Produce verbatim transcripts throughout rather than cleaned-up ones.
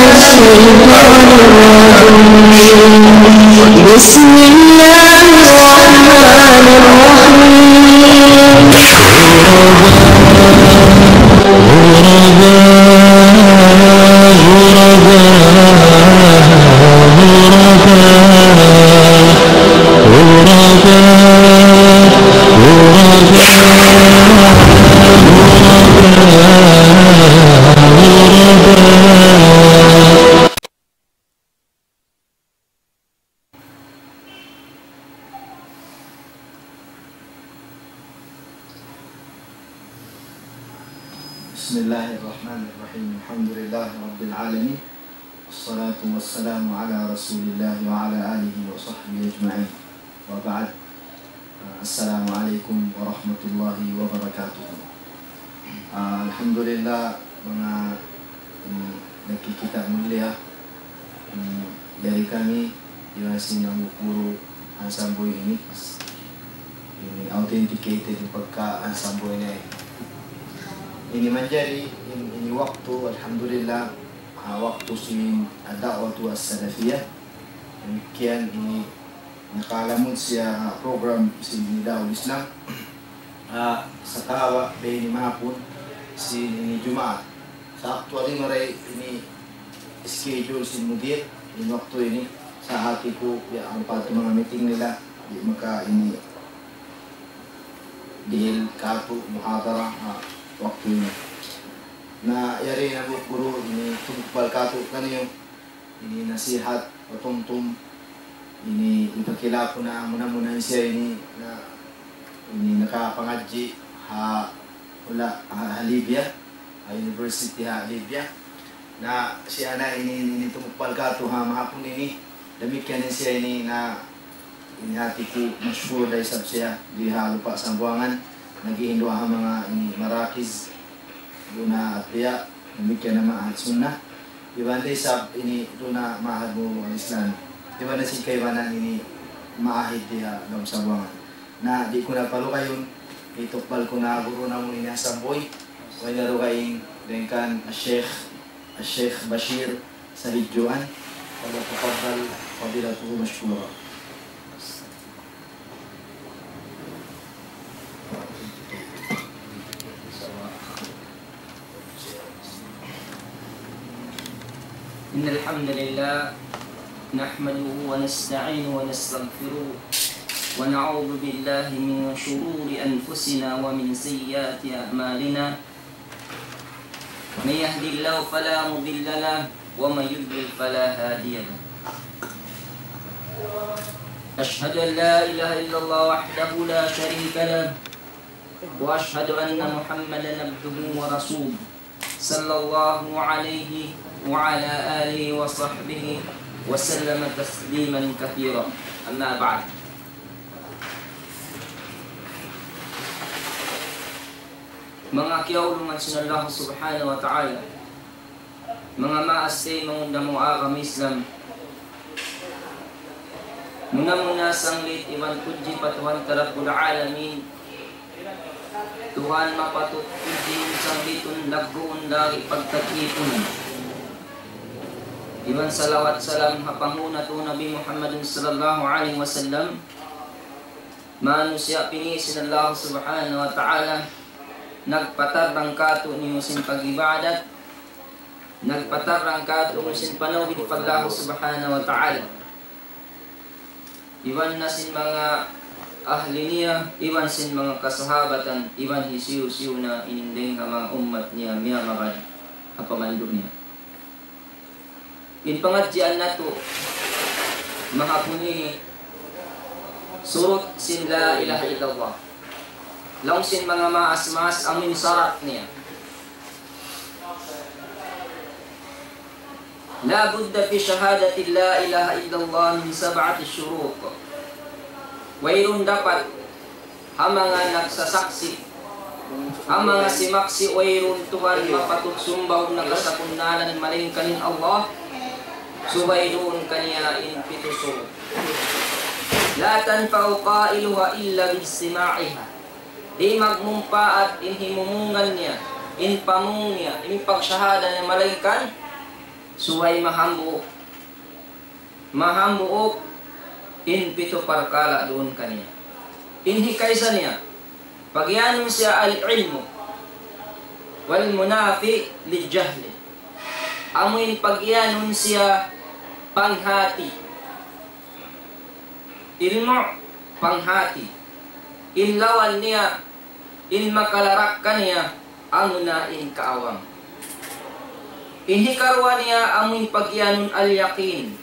الشيطان الرجيم. بسم الله الرحمن الرحيم. بسم الله الرحمن الرحيم. الحمد لله رب العالمين. والصلاة والسلام على رسول الله وعلى آله وصحبه أجمعين. وبعد. السلام عليكم ورحمة الله وبركاته. Ah, alhamdulillah, manga, ini, nagkikita' mulia, ini, yari kami, iban sin hambuuk guru Ansamboy ini. Ini authenticated in pagka Ansamboy ini. Ini manjari, in-, ini waktu, alhamdulillah, ah, waktu sin ad-da'watu as-salafiyah. Damikkiyan ini nakalamud siya ha program sin Nidaul Islam. Ah, sakawa' biya' ini mahapun sin ini Jumaat. Sa' actually marayaw ini schedule sin mudir, in waktu ini, sa' hati ku, ya, ampa tu manga meeting nila, di' maka ini dihil katu' muhadara, ah, waktu ini. Na, yari na bu guru, ini tumpal katu' kaniyu, ini nasihat, patumtum, ini ipakila ku na muna-muna siya ini, na, ini nakapangadji' ha, wala', ha, ha Libya, ha university ha Libya. Na siya na ini, ini tumpal katu' ha mahapun ini, damikkiyan siya ini na ini hati ku mashkur da isab siya di ha Lupa' Sambuwangan, naghihindu' ha manga ini marakiz, duun ha Atbiya, damikkiyan na Ma'had Sunnah. Iban da isab ini duun ha Ma'had Nurul Islam. Iban da sin kaibanan ini ma'ahid di ha lawm Sambuwangan. Na di' ku na palugayun, itukbal ku na guru namu' ini Ansamboy, way na dugaing, dayn kan Sheikh, Sheikh Bashir Sahidjuan. فليتفضل فضيلته مشكورا. إن الحمد لله نحمده ونستعينه ونستغفره ونعوذ بالله من شرور أنفسنا ومن سيئات أعمالنا. من يهد الله فلا مضل له ومن يضلل فلا هادي له. أشهد أن لا إله إلا الله وحده لا شريك له وأشهد أن محمدا عبده ورسوله صلى الله عليه وعلى آله وصحبه وسلم تسليما كثيرا. أما بعد. Manga kiyaulungan sin Allah Subhanahu wa Ta'ala, manga maas taymanghud namu' agama Islam, muna-muna sanglit iban pudji pa Tuhan ta Rabbul Alamin, Tuhan mapatut pudjiun, sanglitun, lagguun, lagi' pagtag-ipunan. Iban salawat salam ha panghu' natu' Nabi Muhammadin sallallahu alayhi wasallam, manusiya' pini' sin Allah Subhanahu wa Ta'ala, nagpatarrang kātu'niyu sin pag-ibadat, nagpatarrang kātu'niyu sin panawhid pa Allah Subhanahu wa Ta'ala. Iban na sin manga ahli niya, iban sin manga kasahabatan, iban hisiyu-siyu na in dayng ha manga ummat niya miyamagad ha pamandu' niya. In pangadjian natu' mahapun ini, surut sin la ilaha illallah. Laung sin manga maas-maas amu in sarat niya. لا بد في شهادة لا إله إلا الله من سبعة شروط. Wayruun dapat ha manga nagsasaksi', ha manga simaksi' wayruun Tuhan mapatut sumbahun nakasakunnalan malaingkan in Allah, subay duun kaniya in pitu surut. لا تنفع قائلها إلا باجتماعها. Di' magmumpaat in himumungan niya, in pamung niya, in pagshahada niya malaingkan Subay mahambuuk, mahambuuk in pitu parkala' duun kaniya. In hikaisa niya, pagiyanun siya al-ilmu, wal munafi lil jahli. Amu in pagiyanun siya panghati. Ilmu' panghati. In lawan niya, in makalarak kaniya, amuna in kaawam. In hikaruwa niya, amu in pagiyanun al-yaqin,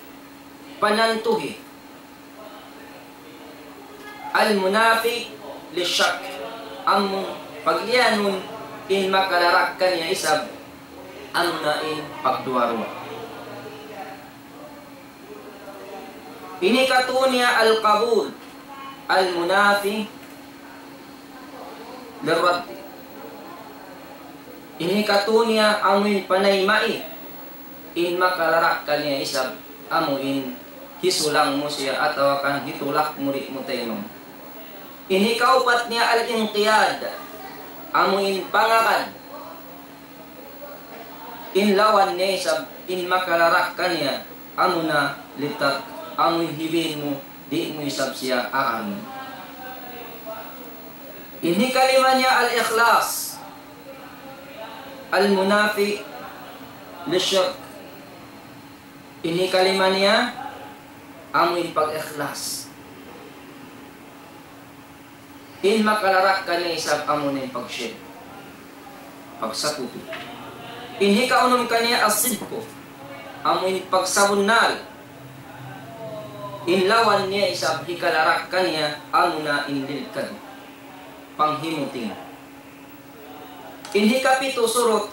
panantuhi. Al-munafi lishak, amu pagiyanun in makalarak kaniya isab, amuna in pagduwa-ruwa. In hikatu niya al-qabul, al-munafi lirraddi. In hikatu niya amu in panaymai, in makalarak kaniya isab, amu in hisulang mu siya atawa kan hitulak mu di' mu taymam. In hikaupat niya al-inqiyad, amu in pangagad. In lawan niya isab, in makalarak kaniya, amuna litak, amu in hibin mu, di' mu isab siya agarun. In hikalima niya al-ikhlas, al-munafi lishirk. In hikalima niya, amu in pag-ikhlas. In makalarak kaniya isab amuna in pagshirk, pagsakutu. In hikaunum kaniya as-sidku, amu in pagsabunnal. In lawan niya isab hikalarak kaniya amuna in lil kadhib, panghimuting. In hikapitu surut,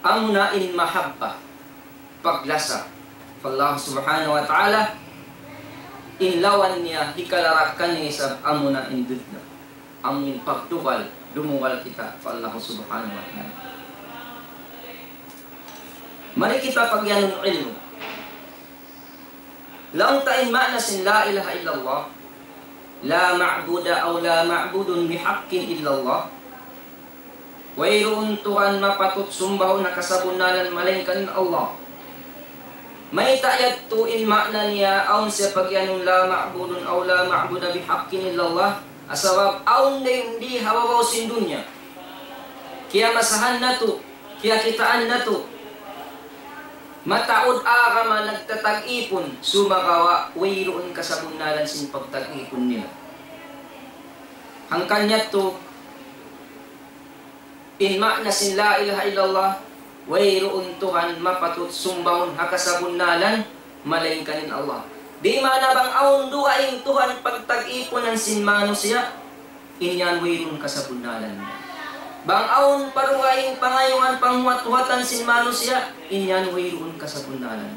amuna in mahabba, paglasa pa Allah Subhanahu wa Ta'ala. In lawan niya hikalarak kaniya isab amuna in dunya, amu in pagdugal, dumugal kita pa Allah Subhanahu wa Ta'ala. Mari kita pagiyanun ilmu'. Laung ta in maana sin la ilaha illallah, لا معبود أو لا معبود بحق إلا الله. Wayruun Tuhan mapatut sumbahun ha kasabunnalan malaingkan in Allah. Mayta' yadtu in maana niya awn siya pagiyanun لا معبود أو لا معبود بحق إلا الله? Sabab awn dayn di ha babaw sin dunya, kiyamasahan natu', kiyakitaan natu', mataud agama nagtatag-ipun, sumagawa' wayruun kasabunnalan sin pagtag-ipun nila. Hangkan yadtu, in maana sin la ilaha illallah, wayruun Tuhan mapatut sumbahun ha kasabunnalan, malaingkan in Allah. Di' maana bang awn dugaing Tuhan pagtag-ipunan sin manusiya', in yan wayruun kasabunnalan. Bang awn pa dugaing pangayuan panghuwat-huwatan sin manusiya', in yan wayruun kasabunnalan.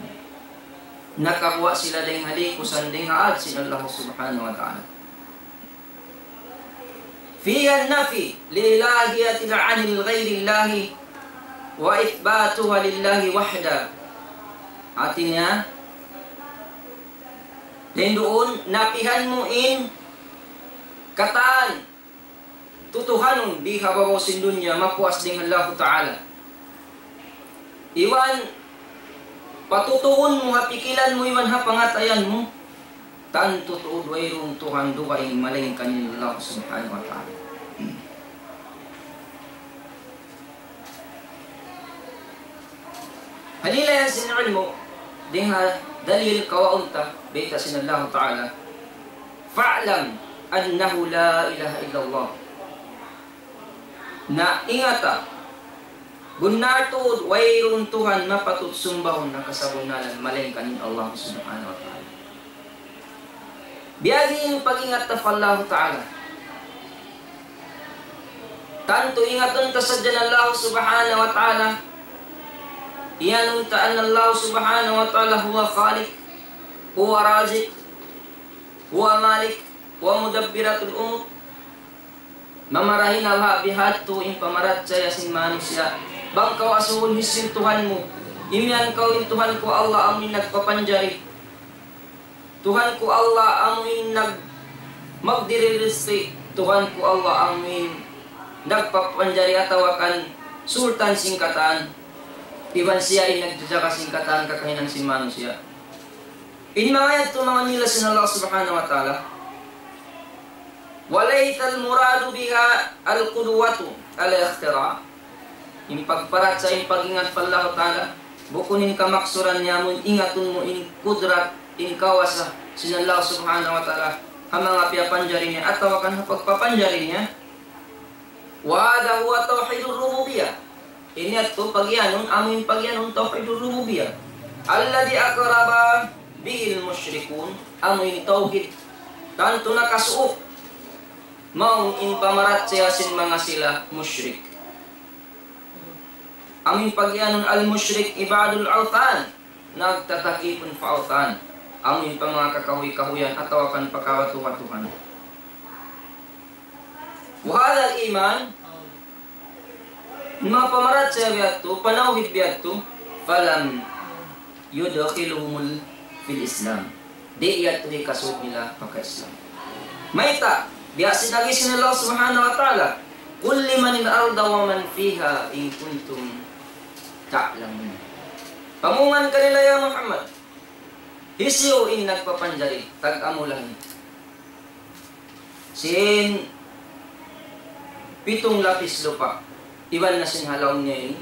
Nakaguwa' sila dayn ha likusan, dayn ha ad sin Allah Subhanahu wa Ta'ala. فيها النفي لإلهية عن غير الله وإثباتها لله وحده. Hati niya, dayn duun, napihan mu in katan tutuhanun di ha babaw sin dunya, mapuas dayn ha Allahu Ta'ala. Iban patutuun mu ha pikilan mu iban ha pangatayan mu, tantu tuud wayruun Tuhan dugaing malaingkan in Allah Subhanahu wa Ta'ala. Halila yan sin ilmu', dayn ha dalil kawaun ta, bayta' sin Allah Ta'ala, فاعلم أنه لا إله إلا الله. Na ingata, bunnal tuud wayruun Tuhan mapatut sumbahun ha kasabunnalan malaingkan in Allah Subhanahu wa Ta'ala. Biya' diin in pag-ingat ta pa Allah Ta'ala. Tantu ingatun ta sadja in Allah Subhanahu wa Ta'ala. Iyanun ta in Allah Subhanahu wa Ta'ala هو خالق، هو رازق، هو مالك، هو مدبر الأمور. Mamarahi na baha' bihadtu in pamarachaya sin manusiya'. Bang kaw asubuhun hisiyu in Tuhan mu, imiyan kaw in Tuhan ku Allah amu in nagpapanjari. Tuhan ku Allah amu in nag-, magdihil rizki. Tuhan ku Allah amu in nagpapanjari atawa kan sultan sin katan. Iban siya in nagjajaga sin katan kakahinang sin manusiya'. In manga yadtu manga nila sin Allah Subhanahu wa Ta'ala. وليس المراد بها القدوة الاختراع. In pagparachaya, in pag-ingat pa Allah Ta'ala, bukun in kamaksuran niya amu in ingatun mu in kudrat, in kawasa sin Allah Subhanahu wa Ta'ala, ha manga piyapanjari niya atawa kan ha pagpapanjari niya. وهذا هو توحيد الربوبية. Ini yadtu pagiyanun, amu in pagiyanun tawhid ar-rububiyyah. الذي أقر به المشركون, amu in tawhid tantu nakasuuk mawn in pamarachaya sin manga sila mushrik. Amu in pagiyanun al-mushrik عباد الأوثان, nagtatakipun pa awthan. Amu in pa manga kakahuy-kahuyan atawa kan pa kawatu-watuhan. وهذا الإيمان, manga pamarachaya biya' yadtu, panawhid biya' yadtu, فلم يدخلهم في الإسلام. Di' yadtu hikasud nila pa ka-Islam. Mayta', biya' sin agi sin Allah Subhanahu wa Ta'ala, قل لمن الأرض ومن فيها إن كنتم تعلمون. Pamungan kanila ya Muhammad, hisiyu in nagpapanjari, tag-amu langit sin pitung lapis lupa', iban na sin ha lawm niya ini,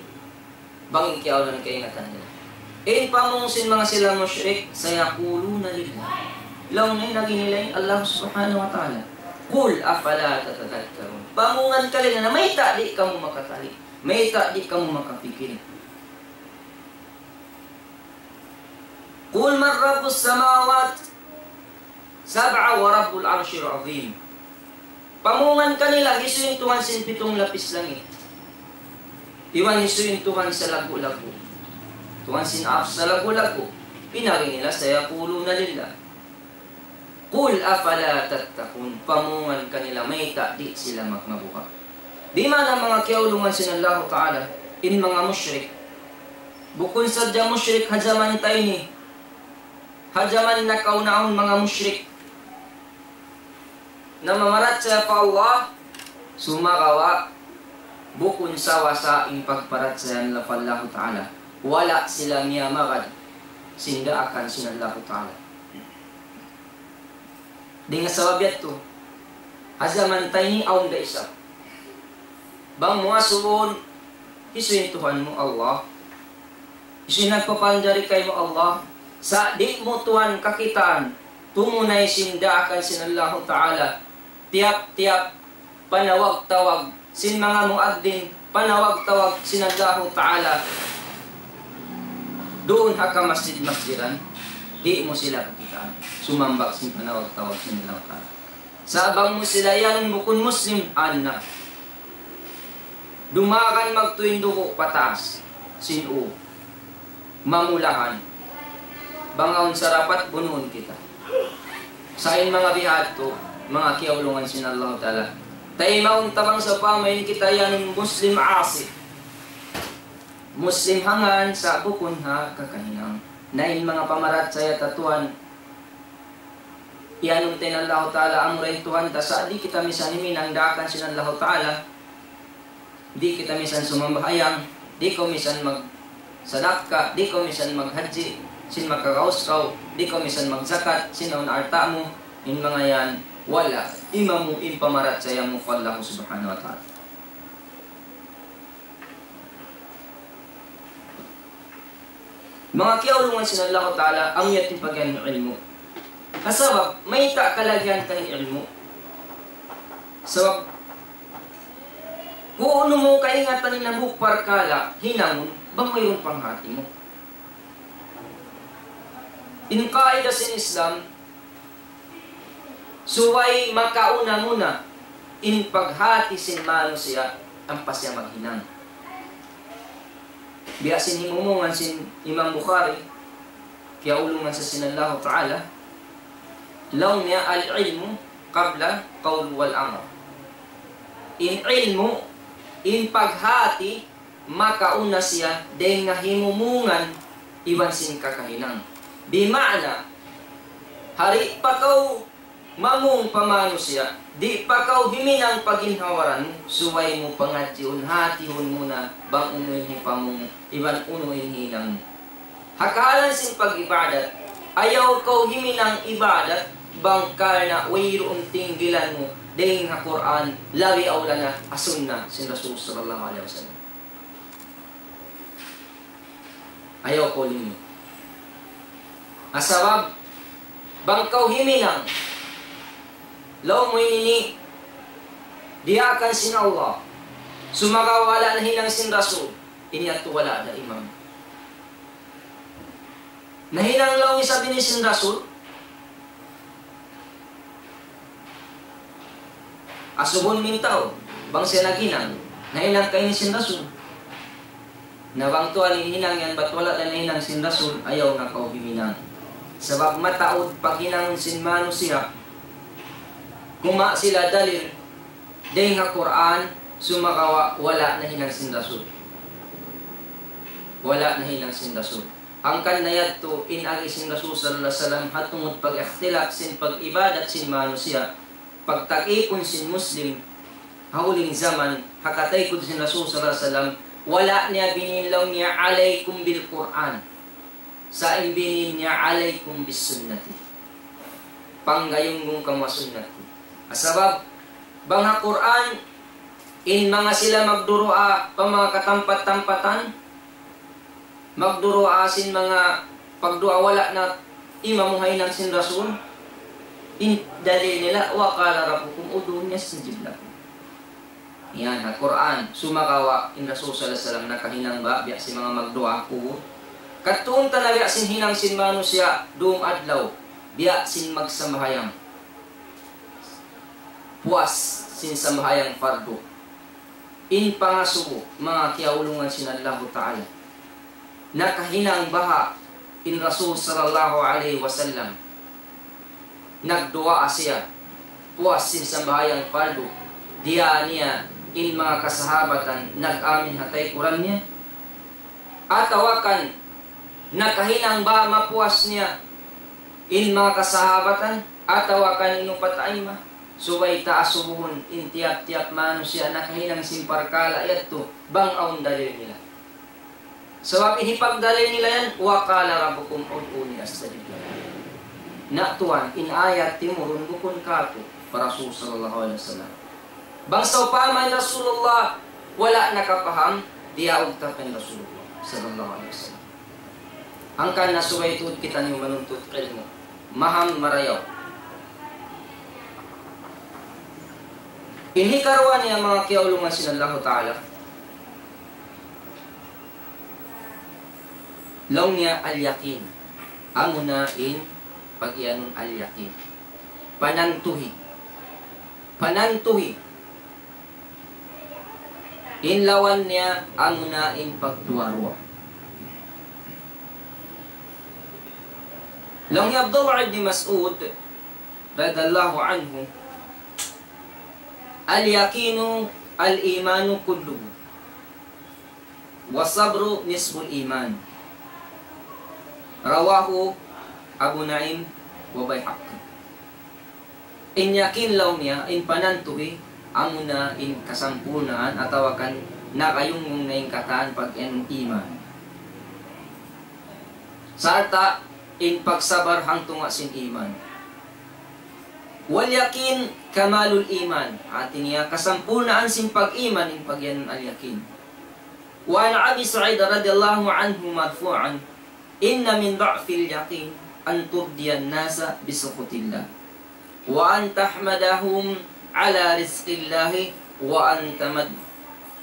bang in kiyaawnan kaingatan nila. In pamung sin manga sila mushrik, سيقولون لله. Laung niya in agi nila in Allah Subhanahu wa Ta'ala. قل أفلا تتذكرون. Pamungan kanila na mayta' di' kamu makatali', mayta' di' kamu makapikil. قل من رب السماوات السبع ورب العرش العظيم. Pamungan kanila, hisiyu in Tuhan sin pitung lapis langit. Iban hisiyu in Tuhan sa laggu'-laggu'. Tuhan sin arsh sa laggu'-laggu'. In agi nila, سيقولون لله. قل أفلا تتقون. Pamungan kanila, mayta' di' sila magmabuga'. Di' man in manga kiyaulungan sin Allahu Ta'ala, in manga mushrik. Bukun sadja mushrik ha jaman ta ini. Ha jaman nakauna awn manga mushrik namamarachaya pa Allah, sumagawa' bukun sawasa in pagparachaya nila pa Allahu Ta'ala. Wala' sila miyamagad sin daakan sin Allahu Ta'ala. Dayn ha sabab yadtu, ha jaman ta ini awn da isab. Bang mu asubuhun, hisiyu in Tuhan mu? Allah. Hisiyu in nagpapanjari kaymu? Allah. Sa' di' mu tuwan kakitaan, tumunay sin daakan sin Allahu Ta'ala. Tiyap-tiyap panawag-tawag sin manga muadhdhin, panawag-tawag sin Allahu Ta'ala duun ha kamasjid-masjidan, di' mu sila kakitaan sumambag sin panawag-tawag sin Allahu Ta'ala. Sa' bang mu sila iyanun bukun Muslim, ana. Dumagan magtuy in dugu' pataas sin ū. Mamulahan. Bang awn sarapat, bunuun kita. Sa' in manga bihādtu, manga kiyaulungan sin Allahu Ta'ala. Taymaun ta bang sawpama in kita yan Muslim asi. Muslim ha ngan sa' bukun ha kakahinang. Na in manga pamarachaya ta tuwan, iyanun ta in Allahu Ta'ala, amura in Tuhan ta, sa' di' kita misan himinang daakan sin Allahu Ta'ala. Di' kita misan sumambahayang, di' kaw misan magsadakka, di' kaw misan maghajji, sin makagaus kaw, di' kaw misan magzakat, sin awn alta' mu, in manga yan, wala' imamu in pamarachaya mu pa Allah Subhanahu wa Ta'ala. Manga kiyaulungan sin Allahu Ta'ala, amu yan in pag'iyanun ilmu'. Ha sabab, mayta' kalagihan ta in ilmu'? Sabab, kunu' mu kaingatan in hambuuk parkala', hinangun, bang wayruun panghati mu. In qaida sin Islam, subay makauna muna in paghati sin manusiya' ampa siya maghinang. Biya' sin himumungan sin Imam Bukhari, kiyaulungan sa sin Allahu Ta'ala, laung niya, العلم قبل القول والعمل. In ilmu', in paghati, makauna siya dayn ha himumungan iban sin kakahinang. Bima'na, hari pa kaw mamung pa manusiya', di' pa kaw himinang pa ginhawa-baran mu, subay mu pangadjiun, hatihun mu na bang unu in hipamung, iban unu in hinang mu. Ha kahalan sin pag-ibadat, ayaw kaw himinang ibadat, bang karna' wayruun tinggilan mu, dayn ha Qur'an, labi awla na ha sunnah sin Rasul sallallahu alayhi wasallam. Ayaw kaw limit. Sabab, bang kaw himinang, laung mu ini, diyaakan sin Allah, sumagawa' wala' nahinang sin Rasul, ini yadtu wala' da imam. Nahinang laung isab ini sin Rasul. Asubuhun mu in tau, bang siya naghinang, nahinang ka ini sin Rasul. Na bang tuwan in hinang yan, bat wala' da nahinang sin Rasul, ayaw na kaw himinang. Sabab mataud paghinang sin manusiya', kumawa' sila dalil, dayn ha Qur'an, sumagawa' wala' nahinang sin Rasul. Wala' nahinang sin Rasul. Hangkan na yadtu in agi sin Rasul sallallahu alayhi wasallam ha tungud pag-ikhtilaf sin pag-ibadat sin manusiya', pagtag-ipun sin Muslim, ha huling jaman, ha kataykud sin Rasul sallallahu alayhi wasallam, wala' niya binin laung niya, "Alaykum bil Qur'an." Sa' in binin niya, "Alaykum bis sunnati." Panggayunggung kamu ha sunnat ku. Sabab, bang ha Qur'an, in manga sila magduwaa pa manga katampat-tampatan, magduwaa sin manga pagduwaa wala' na imamu ha hinang sin Rasul, in dalil nila, "Wa qala rabbukum ud'uni astajib lakum." Yan, ha Qur'an, sumagawa' in Rasul sallallahu alayhi wasallam nakahinang ba, biya' sin manga magduwaa kubul. Kadtuun ta na biya' sin hinang sin manusiya', dum adlaw, biya' sin magsambahayang. Puas sin sambahayang fardu. In pangasubu, manga kiyaulungan sin Allahu Ta'ala. Nakahinang baha' in Rasul sallallahu alayhi wasallam. Nagduwaa siya. Puas sin sambahayang fardu. Diyā niya in manga kasahabatan nag-amin ha taykuran niya. Atawa kan nakahinang ba mapuas niya in manga kasahabatan, atawa kan in upat aima. Subay ta asubuhun in tiyap-tiyap manusiya' nakahinang sin parkala' yadtu, bang awn dalil nila. Sabab in hipagdalil nila yan, "Wa qala rabbukum ud'uni astajib lakum." Na tuwan, in ayat timurun bukun kātu' pa Rasul sallallahu alayhi wasallam. Bang sawpama in Rasulullah wala' nakapaham, diyaug ta pa in Rasulullah sallallahu alayhi wasallam. Hangkan na subay tuud kitaniyu manuntut ilmu'. Maham marayaw. In hikaruwa niya manga kiyaulungan sin Allahu Ta'ala. Laung niya al-yaqin. Amuna in pag-iyanun al-yaqin. Panantuhi. Panantuhi. In lawan niya amuna in pagduwa-ruwa. Laung hi Abdullah ibn Mas'ud radiyallahu anhu, "Al-yaqinu al-imanu kulluhu, wa sabru nisful iman." Rawahu Abu Nu'aym wa Bayhaqi. In yakin laung niya, in panantuhi, amuna in kasampurnaan atawa kan nakayungnung na in katan pag-iyanun iman. Sarta' in pagsabar hangtunga' sin iman. Wal yakin kamalul iman. Hati niya, kasampurnaan sin pag-iman in pag-iyanun al yakin. وعن أبي سعيد رضي الله عنه مرفوعا: إن من ضعف اليقين أن ترضي الناس بسخط الله، وأن تحمدهم على رزق الله، وأن تمد-،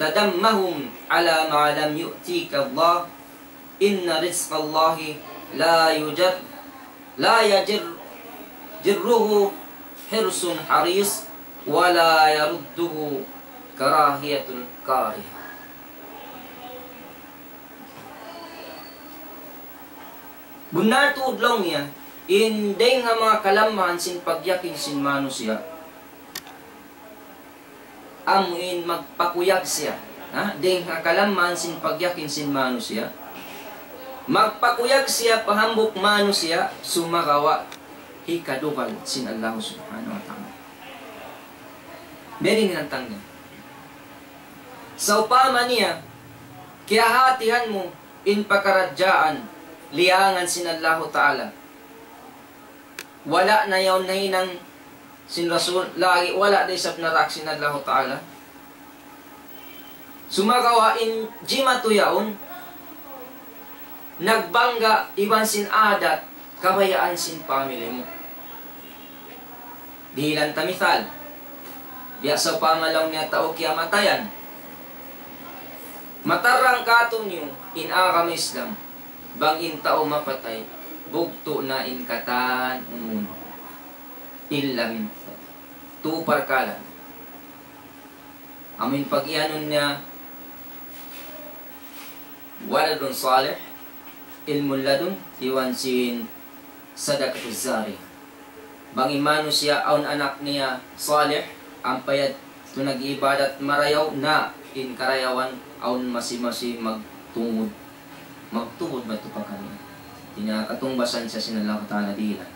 تذمهم على ما لم يؤتك الله، إن رزق الله لا يجر-، لا يجر-، يجره حرص حريص، ولا يرده كراهية كاره. Bunnal tuud laung niya, in dayng ha manga kalamahan sin pagyakin sin manusiya', amu in magpakuyag siya. Ha? Dayng ha kalamahan sin pagyakin sin manusiya', magpakuyag siya pa hambuuk manusiya', sumagawa' hikadugal sin Allah Subhanahu wa Ta'ala. Beri ni nantang niya. Sawpama niya, kiyahatihan mu in pakaradjaan, liyangan sin Allahu Ta'ala. Wala' na yaun nahinang sin Rasul, lagi' wala' da isab narak sin Allahu Ta'ala. Sumagawa' in jimatu yaun, nagbangga iban sin adat, kabayaan sin family mu. Dihilan ta misal. Biya' sawpama laung niya tau kiyamatayan. Matarrang kātu'niyu in agama Islam, bang in tau mapatay, bugtu' na in katan unu-unu. Illa min tū parkala'. Amu in pag-iyanun niya, waladun salih, ilmu ladun, iban sin sadaqatuz jariyah. Bang in manusiya' awn anak niya salih, ampa yadtu nag-ibadat marayaw, na in karayawan awn masi-masi magtungud. Magtungud madtu pa kaniya. Di' na katungbasan siya sin Allahu Ta'ala dihilan.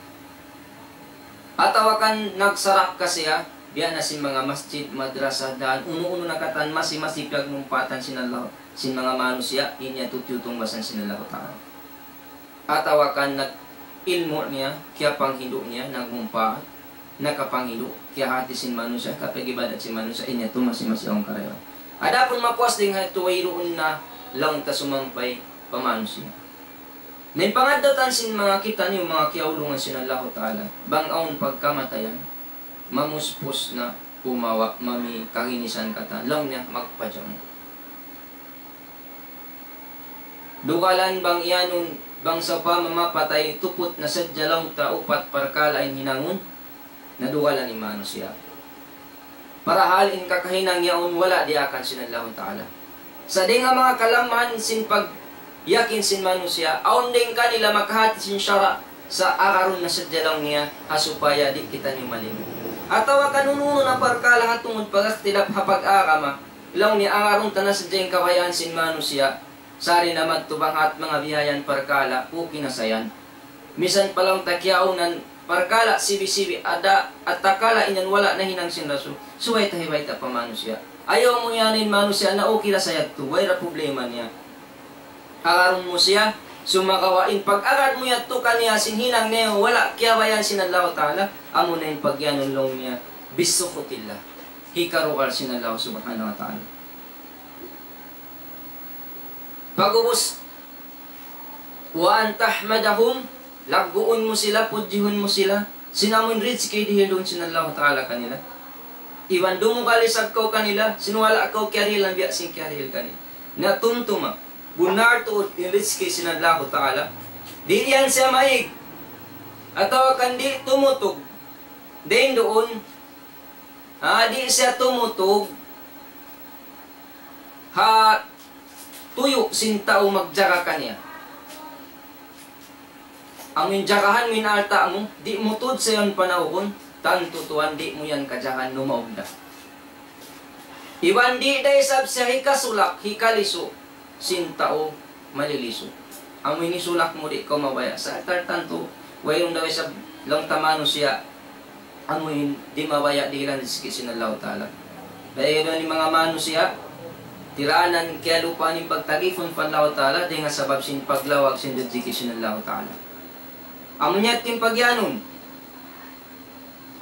Atawa kan nagsarakka siya, biya' na sin manga masjid, madrasa, dān, unu-unu na katan masi-masi piyagmumpaatan sin Allah, sin manga manusiya', in yadtu tiyutungbasan sin Allahu Ta'ala. Atawa kan nag-ilmu' niya, kiyapanghindu' niya, nagmumpaat, nakapanghindu', kiyahati sin manusiya', kapag-ibadat sin manusiya', in yadtu masi-masi awn karayawan. Adapun mapuas dayn ha yadtu wayruun na laung ta sumampay pa manusiya'. Na in pangaddatan sin manga kitaniyu manga kiyaulungan sin Allahu Ta'ala, bang awn pagkamatayan, mamuspus na, pumawa', mami kaginisan katan, laung niya magpajamu. Dugalan bang iyanun, bang sawpama mapatay, tuput na sadja laung ta upat parkala' in hinangun, na dugalan in manusiya'. Parahal in kakahinang yaun wala' diyaakan sin Allahu Ta'ala. Sa' dayn ha manga kalamahan sin pagyakin sin manusiya', awn dayn kanila makahati sin sara', sa' agarun na sadja laung niya, ha supaya di' kitaniyu malingu'. Atawa kan unu-unu na parkala' ha tungud pag-ikhtilaf ha pag-agama, laung niya agarun ta na sadja in kabayaan sin manusiya', sari na madtu bang hat manga bihayan parkala', okay na sa yan. Misan pa laung ta kiyaunan, parkala' sibi'-sibi', ada, atakala' in yan wala' nahinang sin Rasul. Subay ta hibayta' pa manusiya'. Ayaw mu iyanun in manusiya' na okay ra sa yadtu, way ra problema niya. Agarun mu siya, sumagawa' in pag-agad mu yadtu kaniya sin hinang niya, wala' kiyabayaan sin Allahu Ta'ala, amu na in pag-iyanun laung niya, bisukhutillah. Hikarugal sin Allah Subhanahu wa Ta'ala. Pag'ubus, وأن تحمدهم, lagguun mu sila, pudjihun mu sila, sin amun rizki dihil duun sin Allahu Ta'ala kanila. Iban dumugal isab kaw kanila, sin wala' kaw kiyarihilan biya' sin kiyarihil kanila. Na tumtuma, bunnal tuud in rizki sin Allahu Ta'ala. Di' yan siya maig, atawa kan di' tumutug, dayn duun, ha, di' siya tumutug, ha tuyu' sin tau magjaga kaniya. Amun jagahan mu in alta' mu, di' mu tuud sa yan panaugun, tantu tuwan di' mu yan kajagahan numaug da. Iban di' da isab siya hikasulak, hikalisu', sin tau malilisu'. Amu ini sulak mu di' kaw mabaya'. Sa' tartantu, wayruun daw isab laung ta manusiya', amu in di' mabaya' dihilan rizki sin Allahu Ta'ala. Dayng ha ini manga manusiya', tiranan kiyalupahan in pagtagipun pa Allahu Ta'ala, dayn ha sabab sin paglawag sin rizki sin Allahu Ta'ala. Amu niya in pagyanun.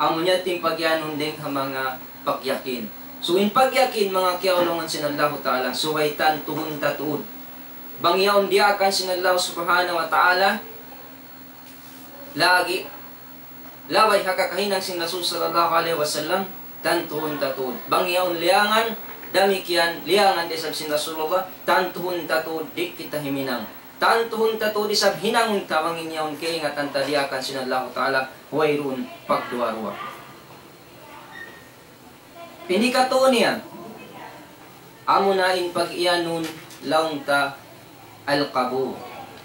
Amu niya in pagyanun dayn ha manga pagyakin. So, in pagyakin, manga kiyaulungan sin Allahu Ta'ala, subay tantuhun ta tuud. Bang yaun diyaakan sin Allah Subhanahu wa Ta'ala, lagi', labay ha kakahinang sin Rasul sallallahu alayhi wasallam, tantuhun ta tuud. Bang yaun liyangan, damikkiyan, liyangan da isab sin Rasulullah, tantuhun ta tuud, di' kita himinang. Tantuhun ta tuud isab hinangun ta bang in yaun kaingatan ta diyaakan sin Allahu Ta'ala, wayruun pagduwa-ruwa. Ini katu' niya, amuna in pag-iyanun laung ta al-qabul,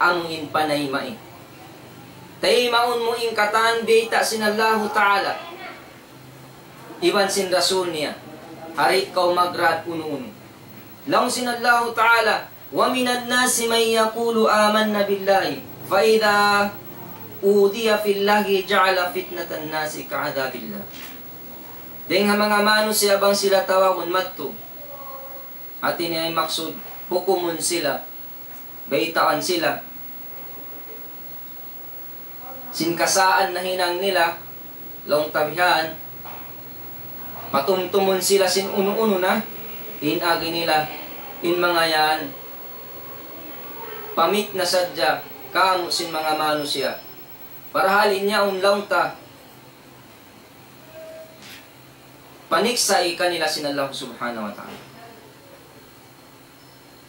amu in panaymaun. Taymaun mu in katan bayta' sin Allahu Ta'ala, iban sin Rasul niya, di' kaw magrad unu-unu. Laung sin Allahu Ta'ala, ومن الناس من يقول آمنا بالله فإذا أوذي في الله جعل فتنة الناس كعذاب الله. Dayng ha manga manusiya' bang sila tawagun madtu. Hati niya in maksud, hukumun sila, baytaan sila. Sin kasaan nahinang nila, laung ta bihan, patumtumun sila sin unu-unu na, in agi nila, in manga yan, pamit na sadja, kamu sin manga manusiya'. Parahal in yaun laung ta, paniksa' kanila sin Allah Subhanahu wa Ta'ala.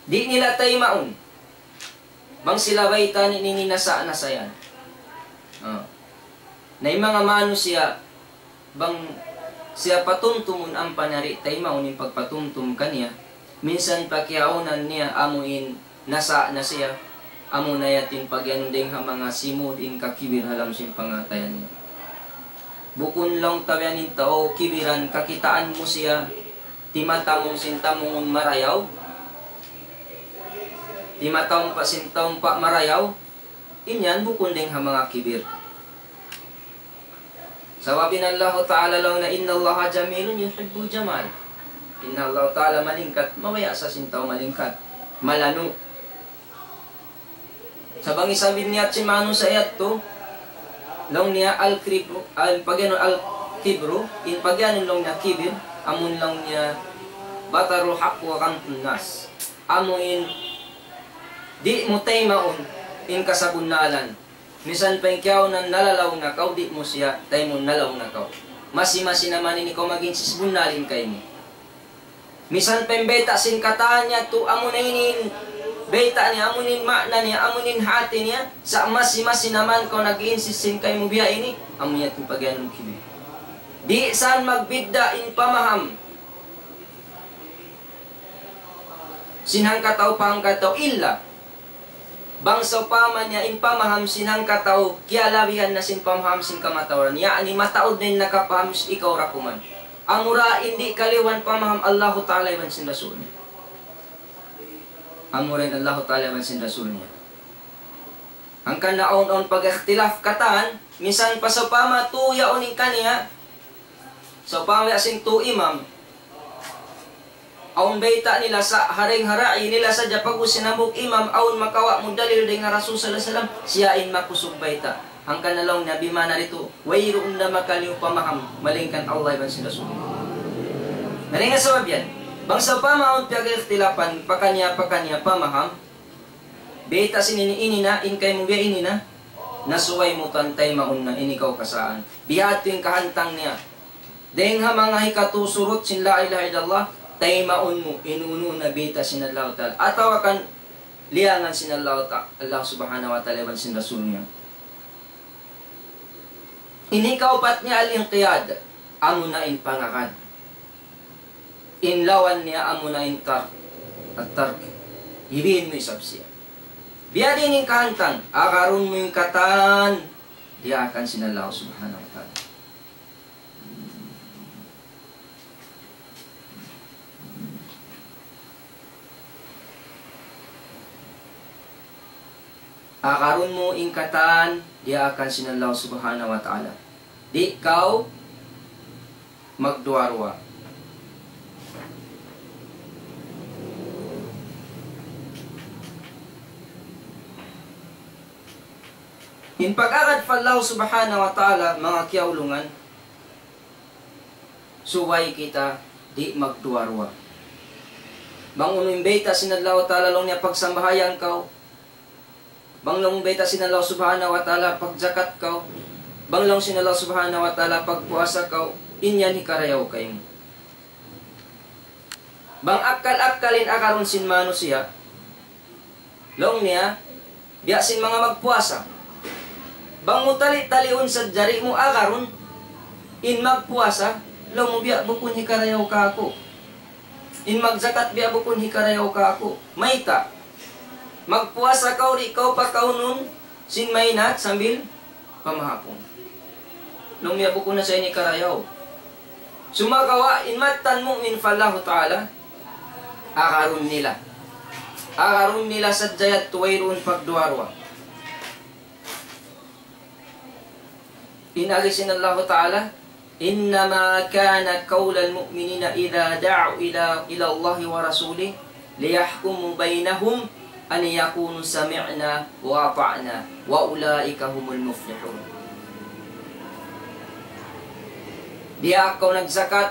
Di' nila taymaun. Bang sila bayta' niya ini nasa-nasa yan. Ah. Na in manga manusiya', bang siya patumtumun ampa niya di' taymaun in pagpatumtum kaniya, minsan pa kiyaunan niya amu in nasa na siya, amu na yadtu in pagiyanun dayng ha manga simud in kakibir ha lawm sin pangatayan niya. Bukun laung ta biya' in tau kibiran kakitaan mu siya, timatamung sin tamungun marayaw, timatampa sin tampa marayaw, in yan bukun dayng ha manga kibir. Sabab in Allahu Ta'ala laung niya, إن الله جميل يحب الجمال. In Allahu Ta'ala malingkat, mabaya' sa sin tau malingkat, malanu'. Sa' bang isab in niyat sin manusiya' yadtu, laung niya الكبر, al-, pagiyanun الكبر, in pagiyanun laung niya kibir, amun laung niya بطر الحق وغمط الناس. Amu in di' mu taymaun in kasabunnalan. Minsan pa in kiyaunan nalalaw na kaw, di' mu siya taymaun nalaw na kaw. Masi-masi na man in ikaw mag-insist bunnalin kaymu. Minsan pa in bayta' sin katan niya tu amu na ini in bayta' niya, amu in ma'na niya, amu in hati niya, sa' masi-masi na man kaw nag-insist sin kaymu biya' ini, amu yadtu in pagiyanun kibir. Di' san magbidda' in pamaham sin hangkatau pa hangkatau illa bang sawpama niya in pamaham sin hangkatau kiyalabihan na sin pamaham sin kamatauran, ya'ni mataud na in nakapaham, ikaw ra kuman. Amura in di' kaliwan pamaham Allahu Ta'ala iban sin Rasul niya. Amura in Allahu Ta'ala iban sin Rasul niya. Hangkan na awn-awn pag-ikhtilaf katan, minsan pa sawpama tu yaun in kaniya, sawpama sin tu imam, awn bayta' nila sa' ha dayng ha ra'i nila sadja pag'ubus sin hambuuk imam, awn makawa' mu dalil dayng ha Rasul sallallahu alayhi wasallam, siya in makusug bayta'. Hangkan na laung niya bimana ditu, wayruun na makaliyu pamaham, malaingkan Allah iban sin Rasul. Na dayn ha sabab yan, bang sawpama awn piyag-ikhtilafan, pakaniya-pakaniya pamaham, bayta' sin ini, ini na, in kaymu biya' ini na, na subay mu tuwan taymaun na, ini kaw kasaan. Bihadtu in kahantang niya. Dayng ha manga hikatu surut sin la ilaha illallah, taymaun mu, in unu-unu na bayta' sin Allahu Ta'ala. Atawa kan liyangan sin Allahu Ta-, Allah Subhanahu wa Ta'ala iban sin Rasul niya. Ini kaupat niya al-inqiyad, amu na in pangagad. In lawan niya amu na in tar-, at-tark. Hibiin mu isab siya. Biya' diin in kahantang, agarun mu in katan, diyaakan sin Allah Subhanahu wa Ta'ala. Agarun mu in katan, diyaakan sin Allah Subhanahu wa Ta'ala. Di' kaw magduwa-ruwa. In pag-agad pa Allah Subhanahu wa Ta'ala, manga kiyaulungan, subay kita di' magduwa-ruwa. Bang unu in bayta' sin Allah Ta'ala laung niya pagsambahayang kaw, bang laung bayta' sin Allah Subhanahu wa Ta'ala pagjakat kaw, bang laung sin Allah Subhanahu wa Ta'ala pagpuasa kaw, in yan hikarayaw kaymu. Bang akkal-akkal in agarun sin manusiya', laung niya, biya' sin manga magpuasa. Bang mu tali-taliun sadja di' mu agarun, in magpuasa, laung mu biya' bukun hikarayaw kāku'. In magjakat biya' bukun hikarayaw kāku'. Mayta'? Magpuasa kaw di' kaw pakaunun sin maynat sambil pamahapun. Laung niya bukun na sa ini karayaw. Sumagawa' in mattan mu'min pa Allahu Ta'ala, agarun nila. Agarun nila sadja yadtu wayruun pagduwa-ruwa. In agi sin Allahu Ta'ala, إنما كان قول المؤمنين إذا دعوا إلى إلى الله ورسوله ليحكم بينهم أن يقولوا سمعنا وأطعنا وأولئك هم المفلحون. Diyaak kaw nagzakat,